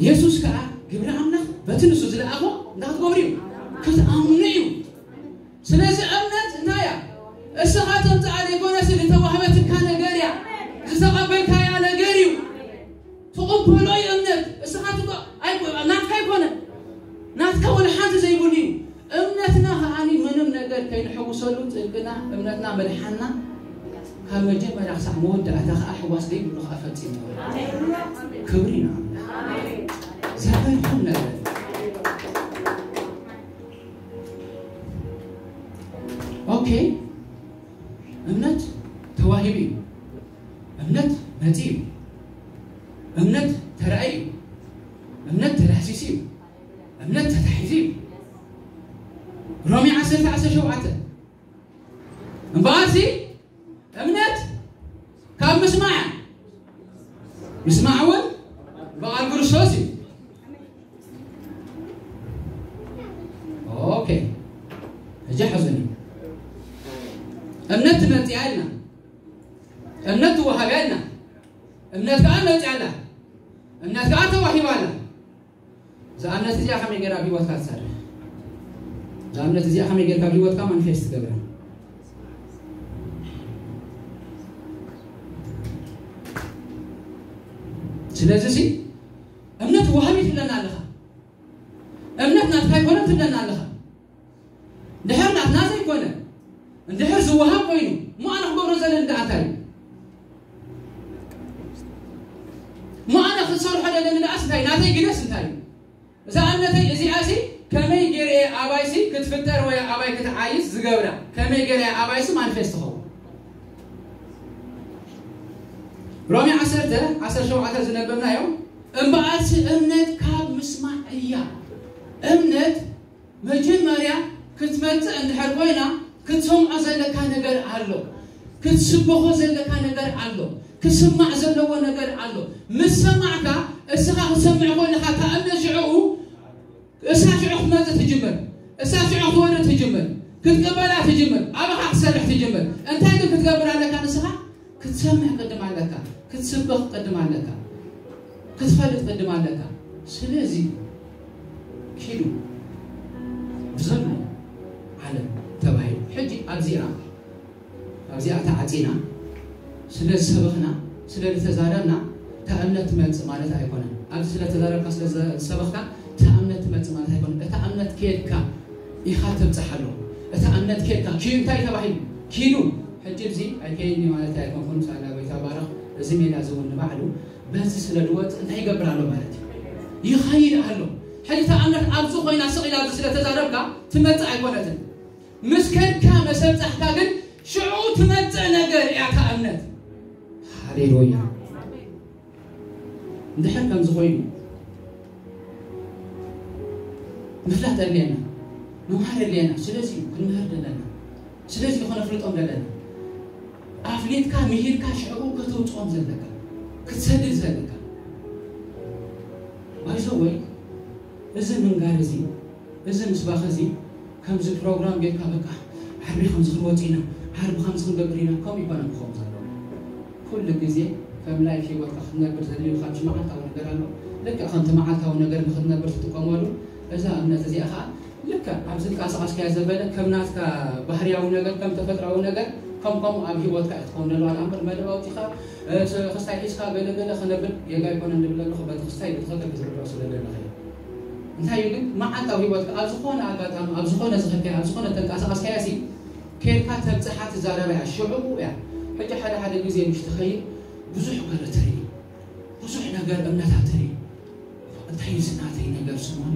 የሱስ ከኣ ግብሪ ኣምላኽ በቲ ንሱ ዝለኣኾ እንታይ ክትገብሩ እዩ? ክትኣምኑ እዩ። ስለዚ እምነት እንታይ እያ? እስኻ ተምጽኣ ዘይኮነስ ዝተዋህበትካ ነገር እያ። ዝተቐበልካያ ነገር እዩ። ትቕበሎ እዩ እምነት። እስኻ ትቆ-፣ ኣይኮ-፣ ናትካ ኣይኮነን። ናትካ ወላ ሓንቲ ዘይብሉ እዩ። እምነትና ከኣኒ ምንም ነገር ከይንሕውሰሉ ጥንቅና እምነትና ምድሓንና ካብ መጀመርያ ክሳዕ መወዳእታ ከኣ ሕዋስ ዘይብሉ ከኣ ፈጺሙ። ክብሪ ንኣምላኽ። ዘገርም ነገር። ኦኬ፣ እምነት ተዋሂቡ እዩ። እምነት መጺኡ እዩ። እምነት ተራእዩ እዩ። እምነት ተዳህሲሱ እዩ። እምነት ተታሒዙ እዩ። ሮሜ ዓሰርተ ዓሰርተ ሸውዓተ እምበኣርሲ እምነት ካብ ምስማዕ፣ ምስማዕ እውን ብቓል ክርስቶስ እዩ። ኦኬ፣ ሕጂ ሓዘኒ። እምነት ትመጽእ ኣላ፣ እምነት ትወሃብ ኣላ፣ እምነት ከኣ መጽእ ኣላ፣ እምነት ከኣ ተዋሂባ ኣላ። እዛ እምነት እዚኣ ከመይ ገይራ ኣብ ህይወትካ ትሰርሕ? እዛ እምነት እዚኣ ከመይ ገይርካ ኣብ ህይወትካ ማኒፌስት ትገብራ? ስለዚ ሲ እምነት ወሃቢ ትብለና ኣለኻ። እምነት ናትካ ኣይኮነን ትብለና ኣለኻ። ድሕር ናትና ዘይኮነ እንድሕር ዝወሃብ ኮይኑ እሞ ኣነ ክገብሮ ዘለኒ ደኣ እንታይ እዩ? እሞ ኣነ ክሰርሖ ዘለኒ ደኣስ እንታይ? ናተይ ግደስ እንታይ እዩ? እዛ እምነተይ እዚኣ ሲ ከመይ ገይረ እየ ኣባይሲ ክትፍጠር ወይ ኣባይ ክትዓይስ ዝገብራ? ከመይ ገይረ እየ ኣባይሲ ማኒፌስት ትኸውን? ሮሜ ዓሰርተ ዓሰርተ ሸውዓተ ዝነበብናዮ እምበኣርሲ እምነት ካብ ምስማዕ እያ። እምነት መጀመርያ ክትመጽእ እንድሕር ኮይና ክትሰምዖ ዘለካ ነገር ኣሎ። ክትስበኾ ዘለካ ነገር ኣሎ። ክስማዕ ዘለዎ ነገር ኣሎ። ምስ ሰማዕካ እስኻ ክትሰምዕ ከለኻ እታ እምነት ሽዕኡ እሳ ሽዑ ክትመጽእ ትጅምር። እሳ ሽዑ ክትወርድ ትጅምር። ክትቅበላ ትጅምር። ኣባኻ ክትሰርሕ ትጅምር። እንታይ ግን ክትገብር ኣለካ ንስኻ? ክትሰምዕ ቅድም ኣለካ። ክትስበኽ ቅድም ኣለካ። ክትፈልጥ ቅድም ኣለካ። ስለዚ ኪዱ ብዘሎ ዓለም ተባሂሉ። ሕጂ ኣብዚኣ ኣብዚኣ ተዓጺና ስለ ዝሰበኽና ስለ ዝተዛረብና እታ እምነት ትመጽእ ማለት ኣይኮነን። ኣብዚ ስለ ተዛረብካ ስለ ዝሰበኽካ እታ እምነት ትመጽእ ማለት ኣይኮነን። እታ እምነት ከየድካ ኢኻ ተብጽሓ ኣለዎ። እታ እምነት ከየድካ ኪዱ እንታይ ተባሂሉ? ኪዱ ሕጂ እዚ ኣይከይድኒ ማለት ኣይኮንኩን። ሳላ ጎይታ ባረኽ። እዚ ሜዳ እዚ እውን ንባዕሉ በዚ ስለ ዝወጽእ እንታይ ይገብር ኣሎ ማለት እዩ? ይኸይድ ኣሎ። ሕጂ እታ እምነት ኣብዚ ኮይና ስቕ ኢላ ኣብዚ ስለ ተዛረብካ ትመጽእ ኣይኮነትን። ምስ ከድካ መሰብጻሕካ ግን ሽዑ ትመጽእ ነገር እያ እታ እምነት። ሃሌሉያ። እንድሕር ከምዚ ኮይኑ ምፍላጥ ኣድልየና፣ ምምሃር ኣድልየና። ስለዚ እዩ ክንምህር ዘለና። ስለዚ እዩ ከነፍልጦም ዘለና። ኣፍሊጥካ ምሂርካ ሽዕኡ ከተውፅኦም ዘለካ ክትሰድድ ዘለካ ባይዘወይ እዚ ምንጋር እዚ እዚ ምስባኽ እዚ ከምዚ ፕሮግራም ጌርካ በቃ ዓርቢ ከምዚ ክንወፅ ኢና ዓርቢ ከምዚ ክንገብር ኢና ከምኡ ይኮነ ክኸውን ዘለዎ ኩሉ ግዜ ከም ላይፍ ህይወትካ ክትነብር ዘድልዩካ ብሽ መዓልታዊ ነገር ኣሎ ልክዕ ከምቲ መዓልታዊ ነገር ንክትነብር ትጥቀመሉ እዛ እምነት እዚኣ ከዓ ልክዕ ኣብ ዝንቀሳቐስካዮ ዘበለ ከም ናትካ ባህርያዊ ነገር ከም ተፈጥራዊ ነገር ከም ከምኡ ኣብ ህይወትካ ክትኸውን ኣለዋ ኣምበር መደብ ኣውፂኻ እቲ ክስታይ ሒዝካ ገለገለ ክነብል ጌጋ ኣይኮነን ዝብል ኣለኹ በቲ ክስታይ ብትኽክል ክትርድኦ ስለ ዘለኻ እዩ እንታይ እዩ ግን መዓልታዊ ህይወትካ ኣብ ዝኾነ ኣጋጣሚ ኣብ ዝኾነ ዝኸድካያ ኣብ ዝኾነ ተንቀሳቐስካያ ሲ ከድካ ተብፅሓ ትዛረባ እያ ሽዑ እያ። ሕጂ ሓደ ሓደ ግዜ ምሽ ትኸይድ ብዙሕ ገር ትርኢ ብዙሕ ነገር እምነታት ትርኢ እንታይ እዩ ዝናተይ ነገር ስሞኒ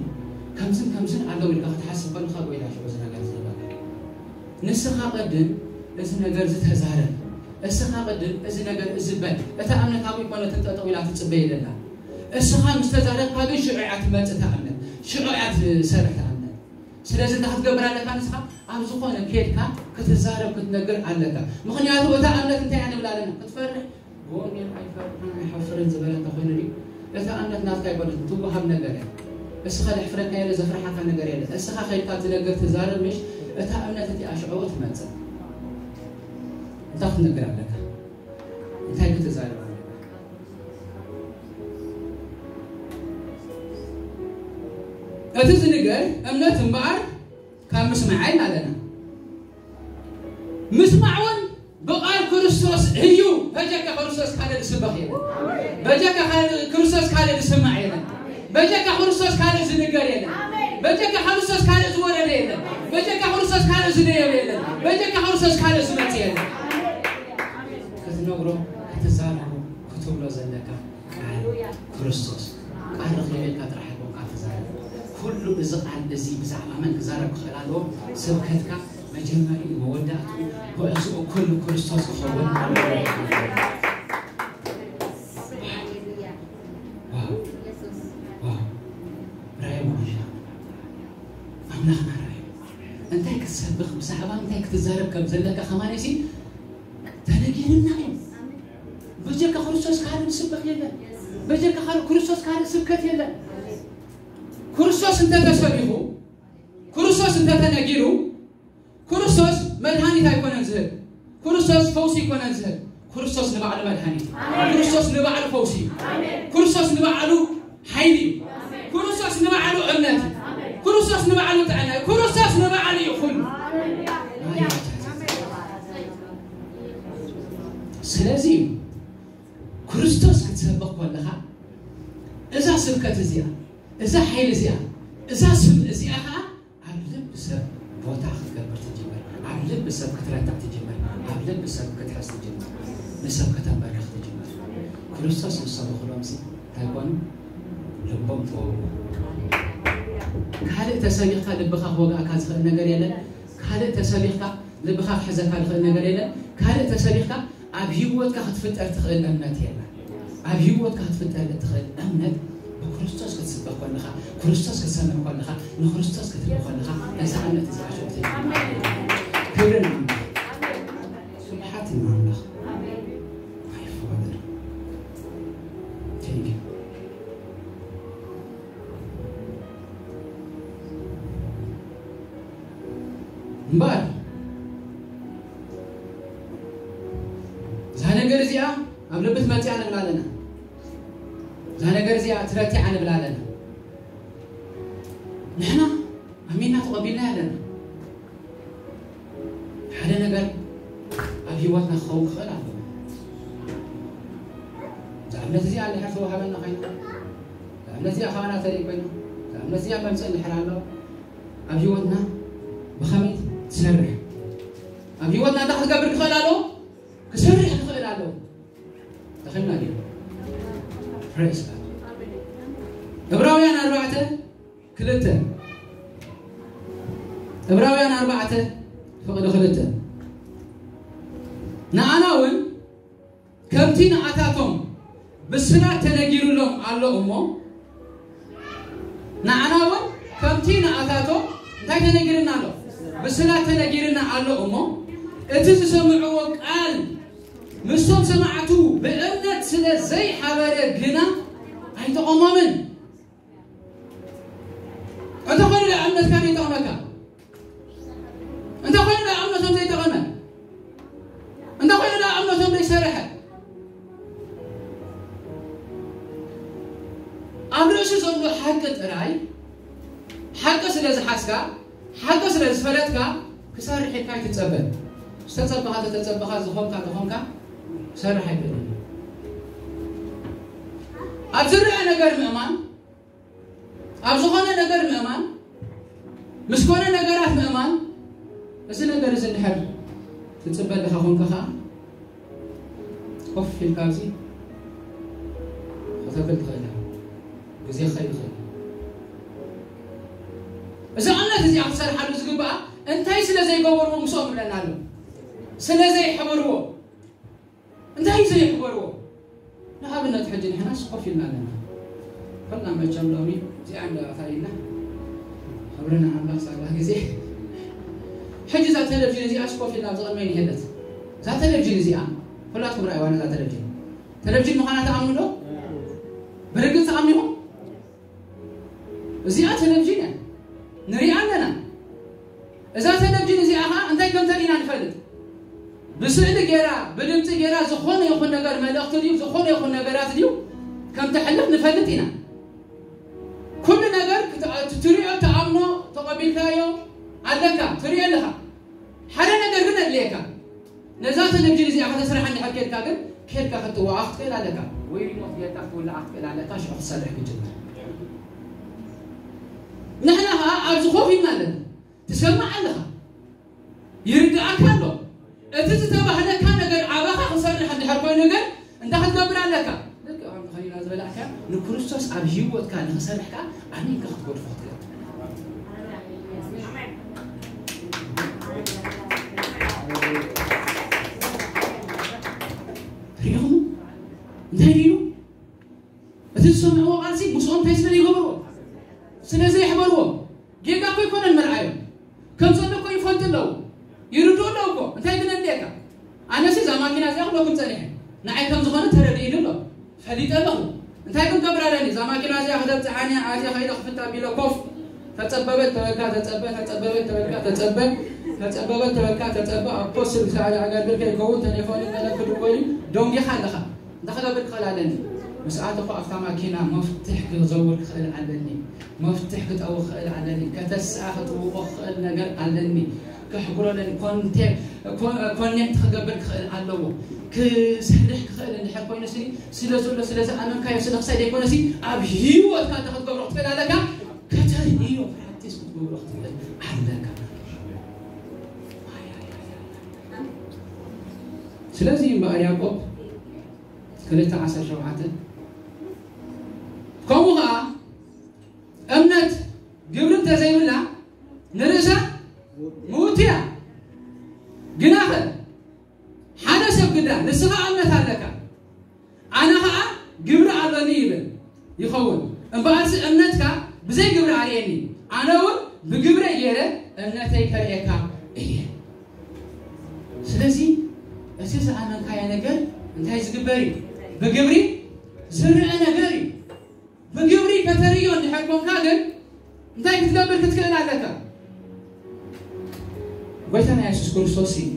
ከምዝን ከምዝን ኣለዉ ኢልካ ክትሓስብ ከለካ ጎይታ ሽዑ እዚ ነገር ዝህበካ ንስኻ ቅድም እዚ ነገር ዝተዛረብ እስኻ ቅድም እዚ ነገር እዚ በል እታ እምነት ኣብ ይኮነትን ጠጠው ኢላ ትፅበይ የለላ እስኻ ምስ ተዛረብካ ግን ሽዑ እያ ትመፅእ እታ እምነት ሽዑ እያ ትሰርሕ እታ እምነት ስለዚ እንታይ ክትገብር ኣለካ ንስኻ ኣብ ዝኾነ ከድካ ክትዛረብ ክትነግር ኣለካ ምኽንያቱ እታ እምነት እንታይ እያ ንብል ኣለና ክትፈርሕ ብወንጌል ኣይፈርሕን ኣይሓፍርን ዝበለ እንተኾይኑ ድዩ እታ እምነት ናትካ ኣይኮነትን ትወሃብ ነገር እያ እስኻ ዘሕፍረካ የለ ዘፍርሓካ ነገር የለ እስኻ ከድካ ትነግር ትዛረብ ምሽ እታ እምነት እቲኣ ሽዕኡ ትመፅእ እንታይ ክትነግር ኣለካ እንታይ ክትዛረብ ኣለካ እቲ ዝንገር እምነት እምበኣር ካብ ምስማዓይ ኣለና ምስማዕ እውን ብቓል ክርስቶስ እዩ በጀካ ክርስቶስ ካልእ ዝስበኽ የለን በጀካ ካልእ ክርስቶስ ካልእ ዝስማዕ የለን በጀካ ክርስቶስ ካልእ ዝንገር የለን በጀካ ክርስቶስ ካልእ ዝወረደ የለን በጀካ ክርስቶስ ካልእ ዝደየበ የለን በጀካ ክርስቶስ ካልእ ዝመጽእ የለን ክትነግሮ ክትዛረቦ ክትብሎ ዘለካ ቃል ክርስቶስ ቃል ረኺበ ኢልካ ጥራሕ ኢልኩም ቃል ትዛረብ ኩሉ እዚ ቃል እዚ ብዛዕባ መን ክዛረብ ክኽእል ኣለዎ ስብከትካ መጀመሪ መወዳእቱ ጉዕዝኡ ኩሉ ክርስቶስ ክኸውን ኣለዎ ራእይ ኣምላኽና ራእይ እንታይ ክትሰብኽ ብዛዕባ እንታይ ክትዛረብ ከም ዘለካ ከማነሲ ተነጊርና እዩ በጀካ ክርስቶስ ካልእ ስብከት የለን በጀካ ካልእ ክርስቶስ ካልእ ስብከት የለን ክርስቶስ እንተተሰቢኹ ክርስቶስ እንተተነጊሩ ክርስቶስ መድሃኒት ኣይኮነን ዝህብ ክርስቶስ ፈውሲ ኣይኮነን ዝህብ ክርስቶስ ንባዕሉ መድሃኒት ክርስቶስ ንባዕሉ ፈውሲ ክርስቶስ ንባዕሉ ሓይሊ እዩ ክርስቶስ ንባዕሉ እምነት እዩ ክርስቶስ ንባዕሉ ጥዕና እዩ ክርስቶስ ንባዕሉ እዩ ኩሉ ስለዚ ክርስቶስ ክትሰብኽ ከለኻ እዛ ስብከት እዚኣ እዛ ሓይሊ እዚኣ እዛ ስም እዚኣ ከዓ ኣብ ልቢ ሰብ ቦታ ክትገብር ትጅምር ኣብ ልቢ ሰብ ክትረታዕ ትጅምር ኣብ ልቢ ሰብ ክትሕዝ ትጅምር ንሰብ ከተንበርክኽ ትጅምር ክርስቶስ ንሰብኹሎም ሲ እንታይ ኮኑ ልቦም ተወግኡ ካልእ ተሰቢኽካ ልብኻ ክወግኣካ ዝኽእል ነገር የለን ካልእ ተሰቢኽካ ልብኻ ክሕዘካ ዝኽእል ነገር የለን ካልእ ተሰቢኽካ ኣብ ህይወትካ ክትፍጠር ትኽእል እምነት የላ ኣብ ህይወትካ ክትፍጠር እትኽእል እምነት ብክርስቶስ ክትስበኽ ከለኻ ክርስቶስ ክትሰምዕ ከለኻ ንክርስቶስ ክትርኢ ከለኻ እዛ እምነት እዚኣ ሸውቲ ክብርን ኣምላኽ ስብሓት ንኣምላኽ ኣይፈዋደር Thank you. እምበኣር እዛ ነገር እዚኣ ኣብ ልቢ ትመፅያ ንብል ኣለና እዛ ነገር እዚኣ ትረቲዓ ንብል ኣለና ንሕና ኣሚና ተቐቢልና ኣለና ሓደ ነገር ኣብ ህይወትና ክኸውን ክኽእል ኣለዎ እዛ እምነት እዚኣ እንድሕር ተዋሃበና ኮይና እዛ እምነት እዚኣ ካባና ተርኢ ኮይና እዛ እምነት እዚኣ መምፅእ እንድሕር ኣለዎ ኣብ ህይወትና ብኸመይ ትሰርሕ ኣብ ህይወትና እንታይ ክትገብር ክኽእል ኣለዎ ክሰርሕ ክኽእል ኣለዎ ተኸልና ድዩ Praise God ዕብራውያን ኣርባዕተ ክልተ ዕብራውያን ኣርባዕተ ፍቕዲ ክልተ ንኣና እውን ከምቲ ንኣታቶም ብስራት ተነጊሩሎም ኣሎ እሞ ንዓና እውን ከምቲ ንኣታቶም እንታይ ተነጊርና ኣሎ ብስራት ተነጊርና ኣሎ እሞ እቲ ዝሰምዕዎ ቃል ምስቶም ሰማዕቱ ብእምነት ስለ ዘይሓበረ ግና ኣይጠቐሞምን እንተኾይኑ ዶ እምነትካ ዘይጠቕመካ እንተኾይኑ ዶ እምነቶም ዘይጠቐመ እንተኾይኑ ዶ እምነቶም ዘይሰርሐ ኣብ ርእሲ ዘሎ ሓቂ ጥራይ ሓቂ ስለ ዝሓዝካ ሓቂ ስለ ዝፈለጥካ ክሰርሕ ኢልካ ኣይትጸበ ዝተጸበኻ ተተጸበኻ ዝኾንካ ተኾንካ ክሰርሕ ኣይክእልን ኣብ ዝረአ ነገር ምእማን ኣብ ዝኾነ ነገር ምእማን፣ ምስ ኮነ ነገራት ምእማን። እዚ ነገር እዚ እንድሕር ትጽበ ኣለኻ ኮንካ ኸዓ፣ ኮፍ ኢልካ ኣብዚ ከተብል ትኽእል ኢኻ። ግዜ ክኸይድ ይኽእል። እዚ እምነት እዚኣ ክትሰርሓሉ ዝግባኣ፣ እንታይ ስለ ዘይገበርዎ ምስኦም ይብለና ኣሎ? ስለ ዘይሕበርዎ። እንታይ እዩ ዘይሕበርዎ? ንኣብነት ሕጂ ንሕናስ ኮፍ ኢልና ኣለና። ኩልና መቸም ሎሚ እዚኣ እንዳባታ ኢልና፣ ክብሪ ንኣምላኽ ሳላ ግዜ። ሕጂ እዛ ቴሌቪዥን እዚኣስ ኮፍ ኢልና ኣብዚ ቅድመይ ንሄደት። እዛ ቴሌቪዥን እዚኣ ኩላትኩም ርኣይዋ ነዛ ቴሌቪዥን። ቴሌቪዥን ምዃና ትኣምኑ ዶ? ብርግጽ ትኣምኑ ኢኹም? እዚኣ ቴሌቪዥን እያ። ንሪኣ ኣለና። እዛ ቴሌቪዥን እዚኣ ኸዓ እንታይ ከም ተርእይና ንፈልጥ። ብስእሊ ጌራ፣ ብድምፂ ጌራ ዝኾነ ይኹን ነገር መልእኽቲ ድዩ፣ ዝኾነ ይኹን ነገራት ድዩ ከም ተሕልፍ ንፈልጥ ኢና። ኩሉ ነገር ክት-፣ ትሪኦ፣ ትኣምኖ፣ ተቐቢልካዮ ኣለካ፣ ትሪኦ ኣለኻ። ሓደ ነገር ግን ኣድልየካ። ነዛ ቴሌቪዥን እዚኣ ከተስርሓ እንድሕር ኬድካ ግን፣ ኬድካ ክትዋኣ ክትክእል ኣለካ። ወይ ሪሞት ጌርካ ክትውልዓ ክትክእል ኣለካ፣ ሽዑ ክትሰርሕ ክትጅምር። ንሕና ኸዓ ኣብዚ ኮፍ ኢልና ኣለና። ትሰምዕ ኣለኻ። ይርድኣካ ኣሎ። እቲ ዝተባህለካ ነገር ኣባኻ ክሰርሕ እንድሕር ኮይኑ ግን፣ እንታይ ክትገብር ኣለካ? ልክዕ ከምቲ ከሊና ዝበላዕካ፣ ንክርስቶስ ኣብ ህይወትካ ንኽሰርሕ ከኣ ኣሚንካ ክትገድፎ ክትገብር። ርኢኹም? እንታይ ኢሉ? እቲ ዝሰምዕዎ ቃልሲ ምስኦም እንታይ ስለ ዘይገብርዎ? ስለ ዘይሕበርዎ። ጌጋ እኮ ኣይኮነን መርዓዮም። ከም ዘሎ እኮ ይፈልጡ ኣለዉ። ይርድኡ ኣለዉ እኮ። እንታይ ግን ኣድልየካ? ኣነሲ እዛ ማኪና እዚኣ ክብለኩም ጸኒሐ። ንዓይ ከም ዝኾነ ተረዲእኒ ኣሎ። ፈሊጠ ኣለኹ። እንታይ ክንገብር ኣለኒ? እዛ ማኪና እዚኣ ከተብጽሓኒ እያ፣ ኣዝያ ከይደ ክፍታ ቢለ ኮፍ። ተጸበበት ተበልካ ተጸበ፣ ተጸበበት ተበልካ ተጸበ፣ ተጸበበት ተበልካ ተጸበ። ኣፖስትል ሳዕሪ ኣገልግል ከይከውን ተሌፎን ገለ ክድወል እዩ። ደንጊኻ ኣለኻ። እንታይ ክገብር ክኽእል ኣለኒ? ምስ ኣተኹ ኣብታ ማኪና መፍትሕ ክዘውር ክኽእል ኣለኒ። መፍትሕ ክጠው ክኽእል ኣለኒ። ከተስኣ ክጥውቆ ክኽእል ነገር ኣለኒ። ከሕጉሮ ኣለኒ። ኮንቴ-፣ ኮ-፣ ኮኔክት ክገብር ክኽእል ኣለዎ። ክሰርሕ ክኽእል እንድሕር ኮይኑ ሲ፣ ስለ ዘሎ፣ ስለ ዝኣመንካዮ፣ ስለ ክሳይ ዘይኮነ ሲ፣ ኣብ ህይወትካ እንታይ ክትገብሮ ክትኽእል ኣለካ? ከተርእዮ ፕራክቲስ ክትገብሮ ክትኽእል ኣለካ። ስለዚ እምበኣር ያዕቆብ ክልተ ዓሰርተ ሸውዓተ፣ ከምኡ ኸዓ እምነት ግብሪ እንተዘይብላ ንርእሳ ምውቲ እያ። ግናኸ ሓደ ሰብ ግዳ፣ ንስኻ እምነት ኣለካ፣ ኣነ ኸዓ ግብሪ ኣለኒ ይብል ይኸውን። እምበኣርሲ እምነትካ ብዘይ ግብሪ ኣርእየኒ፣ ኣነ እውን ብግብረይ ገይረ እምነተይ ከርእየካ እየ። ስለዚ እቲ ዝኣመንካዮ ነገር እንታይ ዝግበር እዩ? ብግብሪ ዝረአ ነገር እዩ። ብግብሪ ከተርእዮ እንድሕር ኮንካ ግን እንታይ ክትገብር ክትክእል ኣለካ? ጎይታና የሱስ ክርስቶስ እዩ።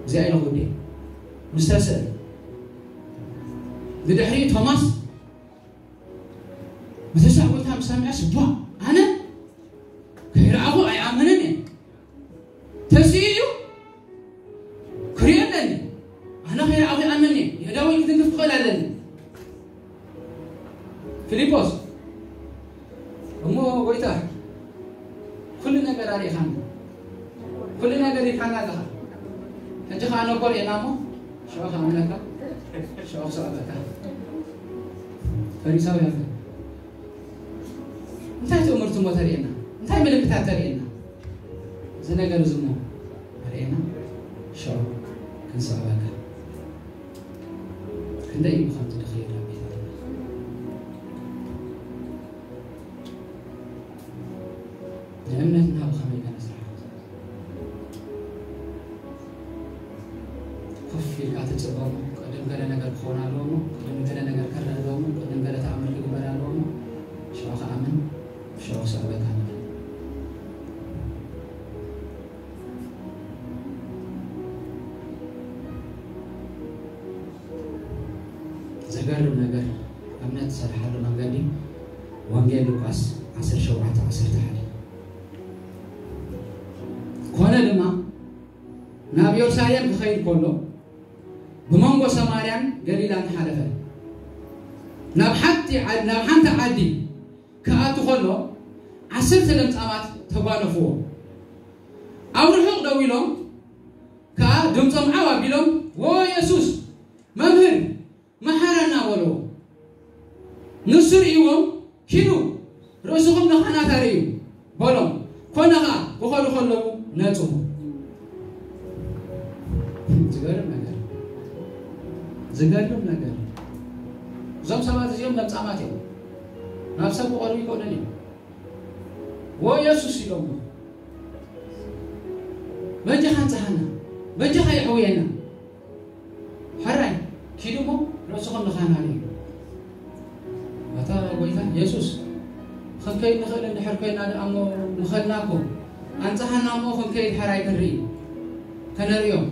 እዚኣ ኢለ ጉዴ ምስ ተስእል ብድሕሪኡ ቶማስ ብተስኣ ጎይታ ምስ ሰምዐስ፣ ቧ፣ ኣነ ከይረኣኹ ኣይኣምንን እየ። ተስኡ እዩ ክሪኦ ኣለኒ። ኣነ ከይረኣኹ ይኣምን እየ። የእዳወይ ክትንክፍ ክኽእል ኣለኒ። ፊልጶስ፣ እሞ ጎይታ፣ ኩሉ ነገር ኣርኢኻኒ፣ ኩሉ ነገር ኢልካና ኣለኻ። ሕጂ ኸዓ ነኮር ኢና እሞ፣ ሽዑ ክኣምነካ፣ ሽዑ ክስዕበካ። ፈሪሳውያን፣ እንታይ ትእምርቱ እሞ ተርእየና? እንታይ ምልክታት ተርእየና? እዚ ነገር እዚ እሞ ኣርእየና፣ ሽዑ ክንስዕበካ። ክንደይ እዩ ከምዚ ድኽየድ ኣብ ቤት ኣምላኽ? ንእምነትና ብኸመይ ከነስርሓ ንኽእል? ኮፍ ኢልካ ትጽበ እሞ፣ ቅድም ገለ ነገር ክኸውን ኣለዎ እሞ፣ ቅድም ገለ ነገር ክረአ ኣለዎ እሞ፣ ቅድም ገለ ተኣምር ክግበር ኣለዎ እሞ፣ ሽዑ ክኣምን፣ ሽዑ ክስዕበካ ንኽእል። ዘገርም ነገር፣ እምነት ዝሰርሓሉ መንገዲ ወንጌል ሉቃስ ዓሰርተ ሸውዓተ ዓሰርተ ሓደ። ኮነ ድማ ናብ ኢየሩሳሌም ክኸይድ ከሎ ብመንጎ ሰማርያን ገሊላን ሓለፈ። ናብ ሓንቲ ዓ-፣ ናብ ሓንቲ ዓዲ ክኣቱ ከሎ ዓሰርተ ለምጻማት ተጓነፍዎ። ኣብ ርሑቕ ደው ኢሎም ከኣ ድምጾም ዓው ኣቢሎም፣ "ዎ የሱስ፣ መምህር፣ መሓረና" በልዎ። ንሱ ርእይዎም፣ "ኪዱ ርእስኹም ንኻህናት ኣርእዩ" በሎም። ኮነ ኸኣ ክኸዱ ከለዉ ነጹ። ዝገርም ነገር፣ ዝገርም ነገር። እዞም ሰባት እዚኦም ለምጻማት እዮም። ናብ ሰብ ክቐርቡ ይኽእሉን እዮም። "ዎ የሱስ" ኢሎሞ፣ "በጃኻ ኣንጽሃና፣ በጃኻ የሕውየና። ሕራይ ኪዱ እሞ ርእስኹም ንኻህናት እዩ." ኣታ ጎይታ የሱስ፣ ክንከይድ ንኽእል እንድሕር ኮይና ደኣ እሞ ምኸድና እኮ። ኣንጽሃና እሞ ክንከይድ ሕራይ ክንርኢ፣ ከነርእዮም።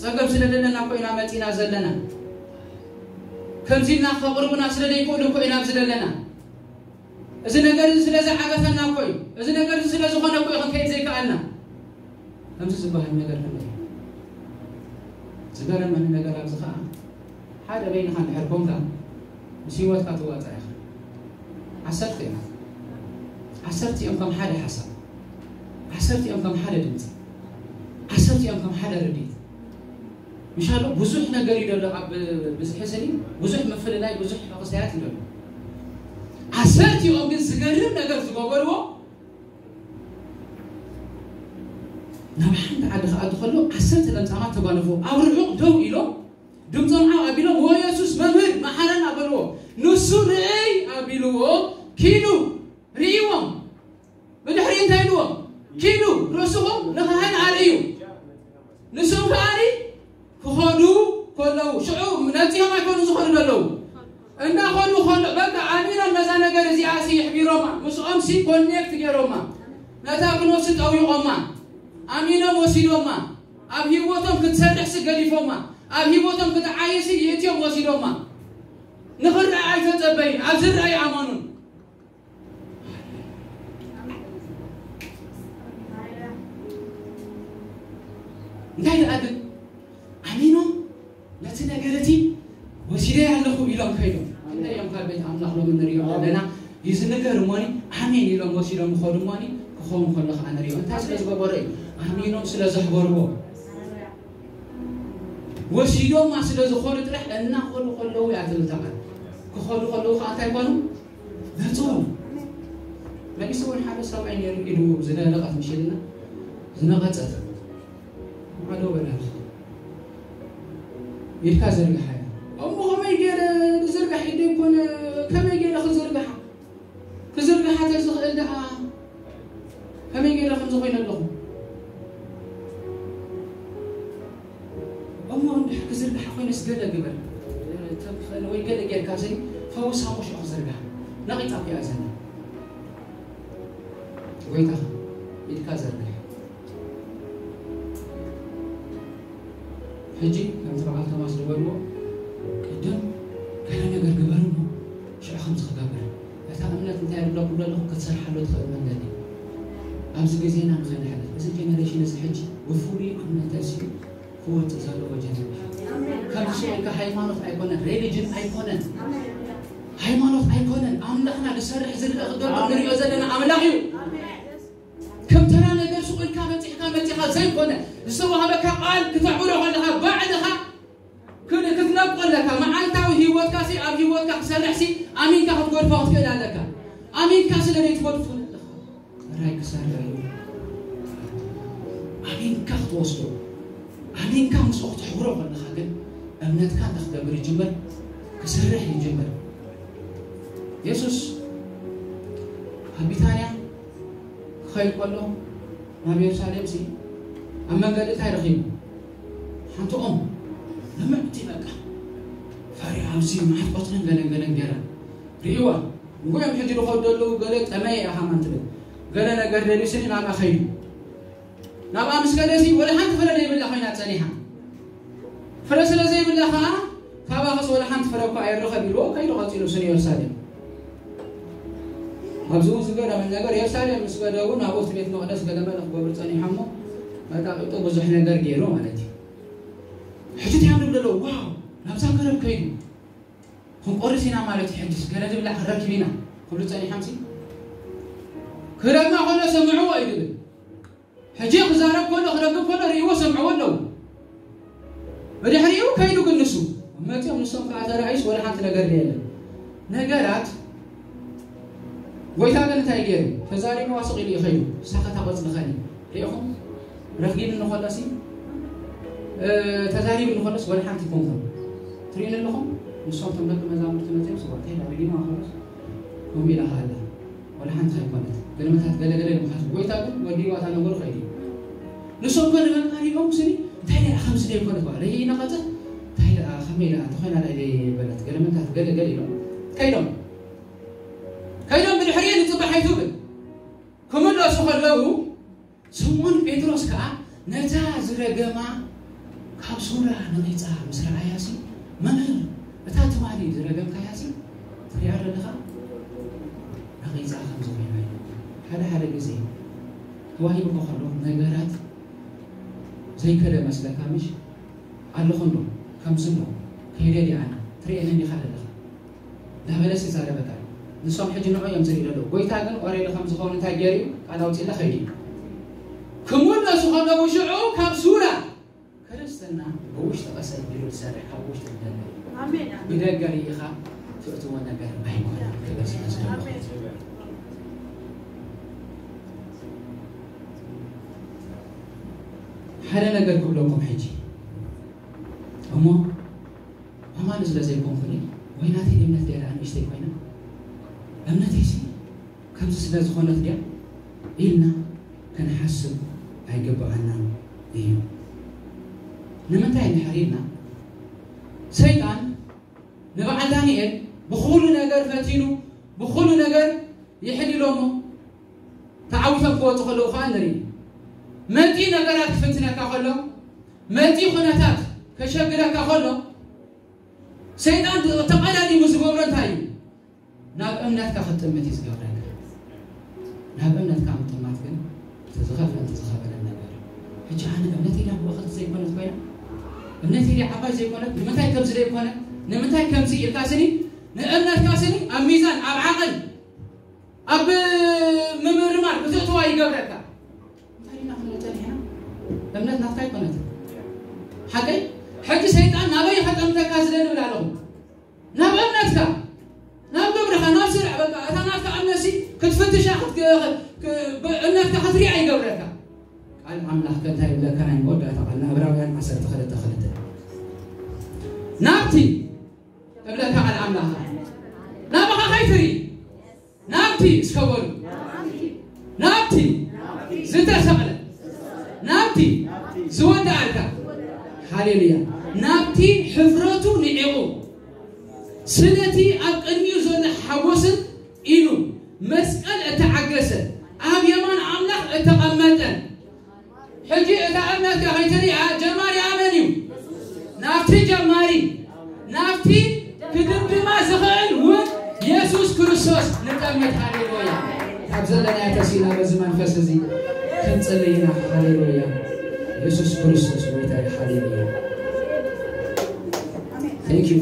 ጸገም ስለ ዘለና እኮ ኢና መጺና ዘለና። ከምዚ ኢልና ከቕርቡና ስለ ዘይክእሉ እኮ ኢና ኣብዚ ዘለና። እዚ ነገር እዚ ስለ ዝዓገተና እኮ እዩ። እዚ ነገር እዚ ስለ ዝኾነ እኮ እዩ ክንከይድ ዘይከኣልና። ከምዚ ዝበሃል ነገር ኣሎ። ዝገረመኒ ነገር ኣብዚ ኸዓ ሓደ በይንኻ እንድሕር ኮንካ ምስ ህይወትካ ትዋጻእ ኢኻ። ዓሰርተ እዮም። ዓሰርተ እዮም ከም ሓደ ሓሳብ። ዓሰርተ እዮም ከም ሓደ ድምፂ። ዓሰርተ እዮም ከም ሓደ ርድኢት። ምሻሎ ብዙሕ ነገር እዩ ዘሎ ኣብ ብዝሒ ስኒ፣ ብዙሕ ምፍልላይ፣ ብዙሕ ሕቕሳያት እዩ ዘሎ። ዓሰርቲኦም ግን ዝገርም ነገር ዝገበርዎ፣ ናብ ሓንቲ ዓዲ ክኣቱ ከሎ ዓሰርተ ለምጻማት ተጓነፍዎ። ኣብ ርሑቕ ደው ኢሎም ድምጾም ዓው ኣቢሎም፣ "ዎ የሱስ መምህር መሓረና" በልዎ። ንሱ ርእይ ኣቢልዎ ኪዱ ርእይዎም። ብድሕሪ እንታይ ኢልዎም? "ኪዱ ርእስኹም ንኻህን ኣርእዩ." ንሶም ከኣኒ ክኸዱ ከለዉ፣ ሽዑ ነጺሆም ኣይኮኑ ዝኸዱ ዘለዉ። እንዳኸዱ ከሎ፣ በቃ ኣሚኖም ነዛ ነገር እዚኣ ሲ ይሕቢሮማ፣ ምስኦም ሲ ኮኔክት ገይሮማ፣ ነታ ክኖሲ ጠዊቖማ፣ ኣሚኖም ወሲዶማ፣ ኣብ ህይወቶም ክትሰርሕ ሲ ገዲፎማ፣ ኣብ ህይወቶም ክትዓይ ሲ ይእትዮም ወሲዶማ። ንኽረኣ ኣይተጸበዩን፣ ኣብ ዝረኣ ይኣመኑን። እንታይ ደኣ ግን ኣሚኖም ነቲ ነገር እቲ ወሲደ ኣለኹ ኢሎም ከይዶም። እንታይ እዮም ካብ ቤት ኣምላኽ ሎም እንሪኦም ዘለና? እዚ ነገር እሞኒ ኣሜን ኢሎም ወሲዶም ይኸዱ እሞኒ ክኸውን ከሎ ከዓ ንሪኦ። እንታይ ስለ ዝገበሩ እዩ? ኣሚኖም ስለ ዘኽበርዎ። ወሲዶማ ስለ ዝኾኑ ጥራሕ እናኸዱ ከለዉ እያ ትብል እታ ቃል። ክኸዱ ከለዉ ከዓ እንታይ ኮኑ? ነጽሩ። መሊሱ እውን ሓደ ሰብኣይ ነይሩ፣ ኢዱ ዝደረቐት ምሽ ኢልና፣ ዝነቐጸት። ማዕዶ በላል። ኢድካ ዘርግሓ እያ። እሞ ከመይ ገይረ ዝዝርጋሕ? ኢደይ እኮ ነ-፣ ከመይ ገይረ ክዝርግሓ? ክዝርግሓ ተዝኽእል ደኣ ከመይ ገይረ ከምዚ ኮይነ ኣለኹ? እሞ እንድሕር ክዝርግሓ ኮይነስ ገለ ግበር። ተምኽእል ወይ ገለ ጌርካ ዘይ ፈውሳ እሞ ሽዑ ክዝርግሓ። ነቒጣ እኮ እያ ዘላ። ጎይታኻ ኢድካ ዘርግሕ። ሕጂ ከምቲ በዓል ቶማስ ዝበልዎ፣ ቅድም ገለ ነገር ግበር እሞ ሽዑ ከምዚ ክገብር። እታ እምነት እንታይ ዝብለኩም ዘለኹ፣ ክትሰርሓሉ ትኽእል መንገዲ። ኣብዚ ግዜና ንኸይንሕለፍ፣ እዚ ጀነሬሽን እዚ ሕጂ ብፍሉይ እምነት ተሲኡ ክወጽእ ዘለዎ ጀነሬሽን። ከምዚ ስቕ ኢልካ ሃይማኖት ኣይኮነን፣ ሬሊጅን ኣይኮነን። ሃይማኖት ኣይኮነን፣ ኣምላኽና ዝሰርሕ ዝርእ ክገብር ንሪኦ ዘለና ኣምላኽ እዩ። ከም ተራ ነገር ስቕ ኢልካ በጺሕካ መጺኻ ዘይኮነ፣ ዝተዋህበካ ቃል ክተዕብሮ ከለኻ ባዕልኻ ክን-፣ ክትነብቆ ኣለካ። መዓልታዊ ህይወትካ ሲ፣ ኣብ ህይወትካ ክሰርሕ ሲ፣ ኣሚንካ ክትገድፎ ክትክእል ኣለካ። ኣሚንካ ስለ ዘይትገድፎ ኣለኻ። ራይ ክሰርሕ እዩ። ኣሚንካ ክትወስዶ፣ ኣሚንካ ምስኡ ክትሕብሮ ከለኻ ግን እምነትካ እንታይ ክገብር ይጅምር? ክሰርሕ ይጅምር። የሱስ ኣብ ቢታንያ ክኸይድ ከሎ ናብ የሩሳሌም ሲ ኣብ መንገዲ እንታይ ረኺቡ? ሓንቲ ኦም ንምዕቲ በቃ ፈሪሃ ኣብዚ መዓት ቆጽልን ገለን ገለን ገይራ ርእይዋ። ንጎዮም ሕጂ ዝኸዱ ዘለዉ ገለ ጠመየ ኢኻ ማን ትብል። ገለ ነገር ደልዩ ስኒ ናብኣ ኸይዱ። ናብኣ ምስ ከደ ሲ ወላ ሓንቲ ፍረ ዘይብላ ኮይና ጸኒሓ። ፍረ ስለ ዘይብላ ኸኣ ካባኸስ ወላ ሓንቲ ፍረ እኳ ኣይረኸብ ኢልዎ ከይዱ ቀጺሉ ስኒ የሩሳሌም። ኣብዚ እውን ዝገረመን ነገር የሩሳሌም ምስ ከደ እውን ኣብኡ እቲ ቤት መቕደስ ገለ መለ ክገብሩ ጸኒሖም እሞ መጣቂጡ ብዙሕ ነገር ገይሩ ማለት እዩ። ሕጂ እንታይ እዮም ዝብሉ ኣለዉ? ዋው ናብዛ ገረብ ከይዱ ክንቆርስ ኢና ማለት እዩ። ሕጅስ ገለ ዝብላዕ ክንረክብ ኢና ክብሉ ጸኒሖም ሲ ክረግማ ከሎ ሰምዕዎ እዩ ዝብል። ሕጂ ክዛረብ ከሎ ክረግም ከሎ ርእይዎ ሰምዕዎ ኣለዉ። ብድሕሪኡ ከይዱ ግን ንሱ መፂኦም ንሶም ከዓ ተረኣዩስ ወላ ሓንቲ ነገር የለን። ነገራት ጎይታ ግን እንታይ ገይሩ? ተዛሪቡ ዋስቕ ኢሉ ይኸይዱ። ሳኸታ ቆፅሊ ኸኒ ሪኢኹም ረኺብኒ ከሎሲ ተዛሪቡ ንኸሎስ ወላ ሓንቲ ይኮንኩም ትሪእን ኣለኹም። ንሶም ቶም ደቂ መዛሙርቲ መፅኦም ስዋ እንታይ ዳሪጊማ ከሎስ ከምኡ ኢላ ሃላ ወላ ሓንቲ ኣይኮነት። ገለመታት ገለገለ ንምካት ጎይታ ግን ወዲዋ እታ ነገሩ ከይዱ። ንሶም ከ ንመምሃሪኦም ስኒ እንታይ ደኣ ከምዚ ደይኮነት በሃለ ይነቐፀ እንታይ ደኣ ከመይ ደኣ እንተኾይና ደኣ ደይ በለት ገለመታት ገለገለ ኢሎም ከይዶም ከይዶም ብድሕሪየ ንፅባሕ ኣይትብል ክምለሱ ከለዉ ስምዖን ጴጥሮስ ከኣ ነታ ዝረገማ ካብ ሱራ ነቒጻ ምስ ረኣያሲ፣ መምህር፣ እታ ትማሊ ዝረገምካያሲ ትሪኣ ዶ ኣለኻ? ነቒጻ ከም ዝኾይና እዩ። ሓደ ሓደ ግዜ ተዋሂቡካ ከሎ ነገራት ዘይከደ መስለካ ምሽ ኣለኹ እንዶ ከምዚ እንዶ ከይደ ዲኣና ትሪኤኒ እንዲኻ ዘለኻ። ዳበለስ ይዛረበካ። ንሶም ሕጂ ንዑ እዮም ዝርኢ ዘለዉ። ጎይታ ግን ኦሬዲ ከም ዝኾኑ እንታይ ገይሩ እዩ? ቃል ኣውፂእና ከይዱ እዩ። ክምለሱ ከለዉ ሽዑ ካብ ሱራ ክርስትና ብውሽጢ ቀሰል ቢሉ ዝሰርሕ ካብ ውሽጢ ዝደለ እዩ። ኣሜን። ብደገ ርኢኻ ትእትዎ ነገር ኣይኮነን። ክብር ስለ ዘለዎ። ኣሜን። ሓደ ነገር ክብለኩም ሕጂ እሞ ኣማኒ ስለ ዘይኮንኩኒ ወይ ናተይ እምነት ድያ ደኣ ንእሽተይ ኮይና እምነተይሲ ከምዚ ስለ ዝኾነት ድያ ኢልና ክንሓስብ ኣይግብኣናን እዩ። ንምንታይ እንድሕር ኢልና ሰይጣን ንበዓል ዳንኤል ብኹሉ ነገር ፈቲኑ ብኹሉ ነገር ይሕሊሎሞ ተዓዊቶም ክወፁ ከለዉ ከዓ ንርኢ። መፂ ነገራት ክፍትነካ ከሎ መፂ ኩነታት ከሸግረካ ከሎ ሰይጣን ተቐዳዲሙ ዝገብሮ እንታይ እዩ? ናብ እምነትካ ክትጥምት እዩ ዝገብረካ። ናብ እምነትካ ምጥማት ግን እቲ ዝኸፍለን እቲ ዝኸበደን ነገር እዩ። ሕጂ ኣነ እምነተይ ድያ ብእኽልቲ ዘይኮነት ኮይና እምነተይ ድያ ዓባይ ዘይኮነት ንምንታይ ከምዚ ዘይኮነ ንምንታይ ከምዚ ኢልካ ስኒ ንእምነትካ ስኒ ኣብ ሚዛን ኣብ ዓቐን ኣብ ምምርማር ክትእትዋ ይገብረካ። እንታይ ኢና ክንብል ጸኒሕና? እምነት ናትካ ኣይኮነትን። ሓቀይ? ሕጂ ሰይጣን ናበይ ከጠምተካ ዝደሊ እብል ኣለኹ? ናብ እምነትካ፣ ናብ ግብርኻ፣ ናብ ስራሕ፣ በቃ እታ ናትካ እምነትሲ ክትፍትሻ፣ እምነትካ ክትሪኣ ይገብረካ። ቃል ኣምላኽ ከ እንታይ ይብለካ? ናይ መወዳእታ ቃል ንዕብራውያን ዓሰርተ ክልተ ክልተ ናብቲ እብለካ ቃል ኣምላኽ ናባኻ ከይትርኢ ናብቲ እስከ በሉ ናብቲ ዝተሰቕለ ናብቲ ዝወደኣልካ ሃሌሉያ ናብቲ ሕፍረቱ ንዒቑ ስለቲ ኣብ ቅድሚኡ ዘሎ ሓጎስን ኢሉ መስቀል እተዓገሰ ኣብ የማን ኣምላኽ እተቐመጠ ሕጂ እታ እምነትካ ከይትሪኣ ጀማሪ ኣመን እዩ ናብቲ ጀማሪ ናብቲ ክድምድማ ዝኽእል እውን የሱስ ክርስቶስ ንጠምት ሃሌሉያ ካብ ዘለና ተሲና በዚ መንፈስ እዚ ክንፅልይ ኢና ሃሌሉያ የሱስ ክርስቶስ ጎይታ እዩ ሃሌሉያ Thank you.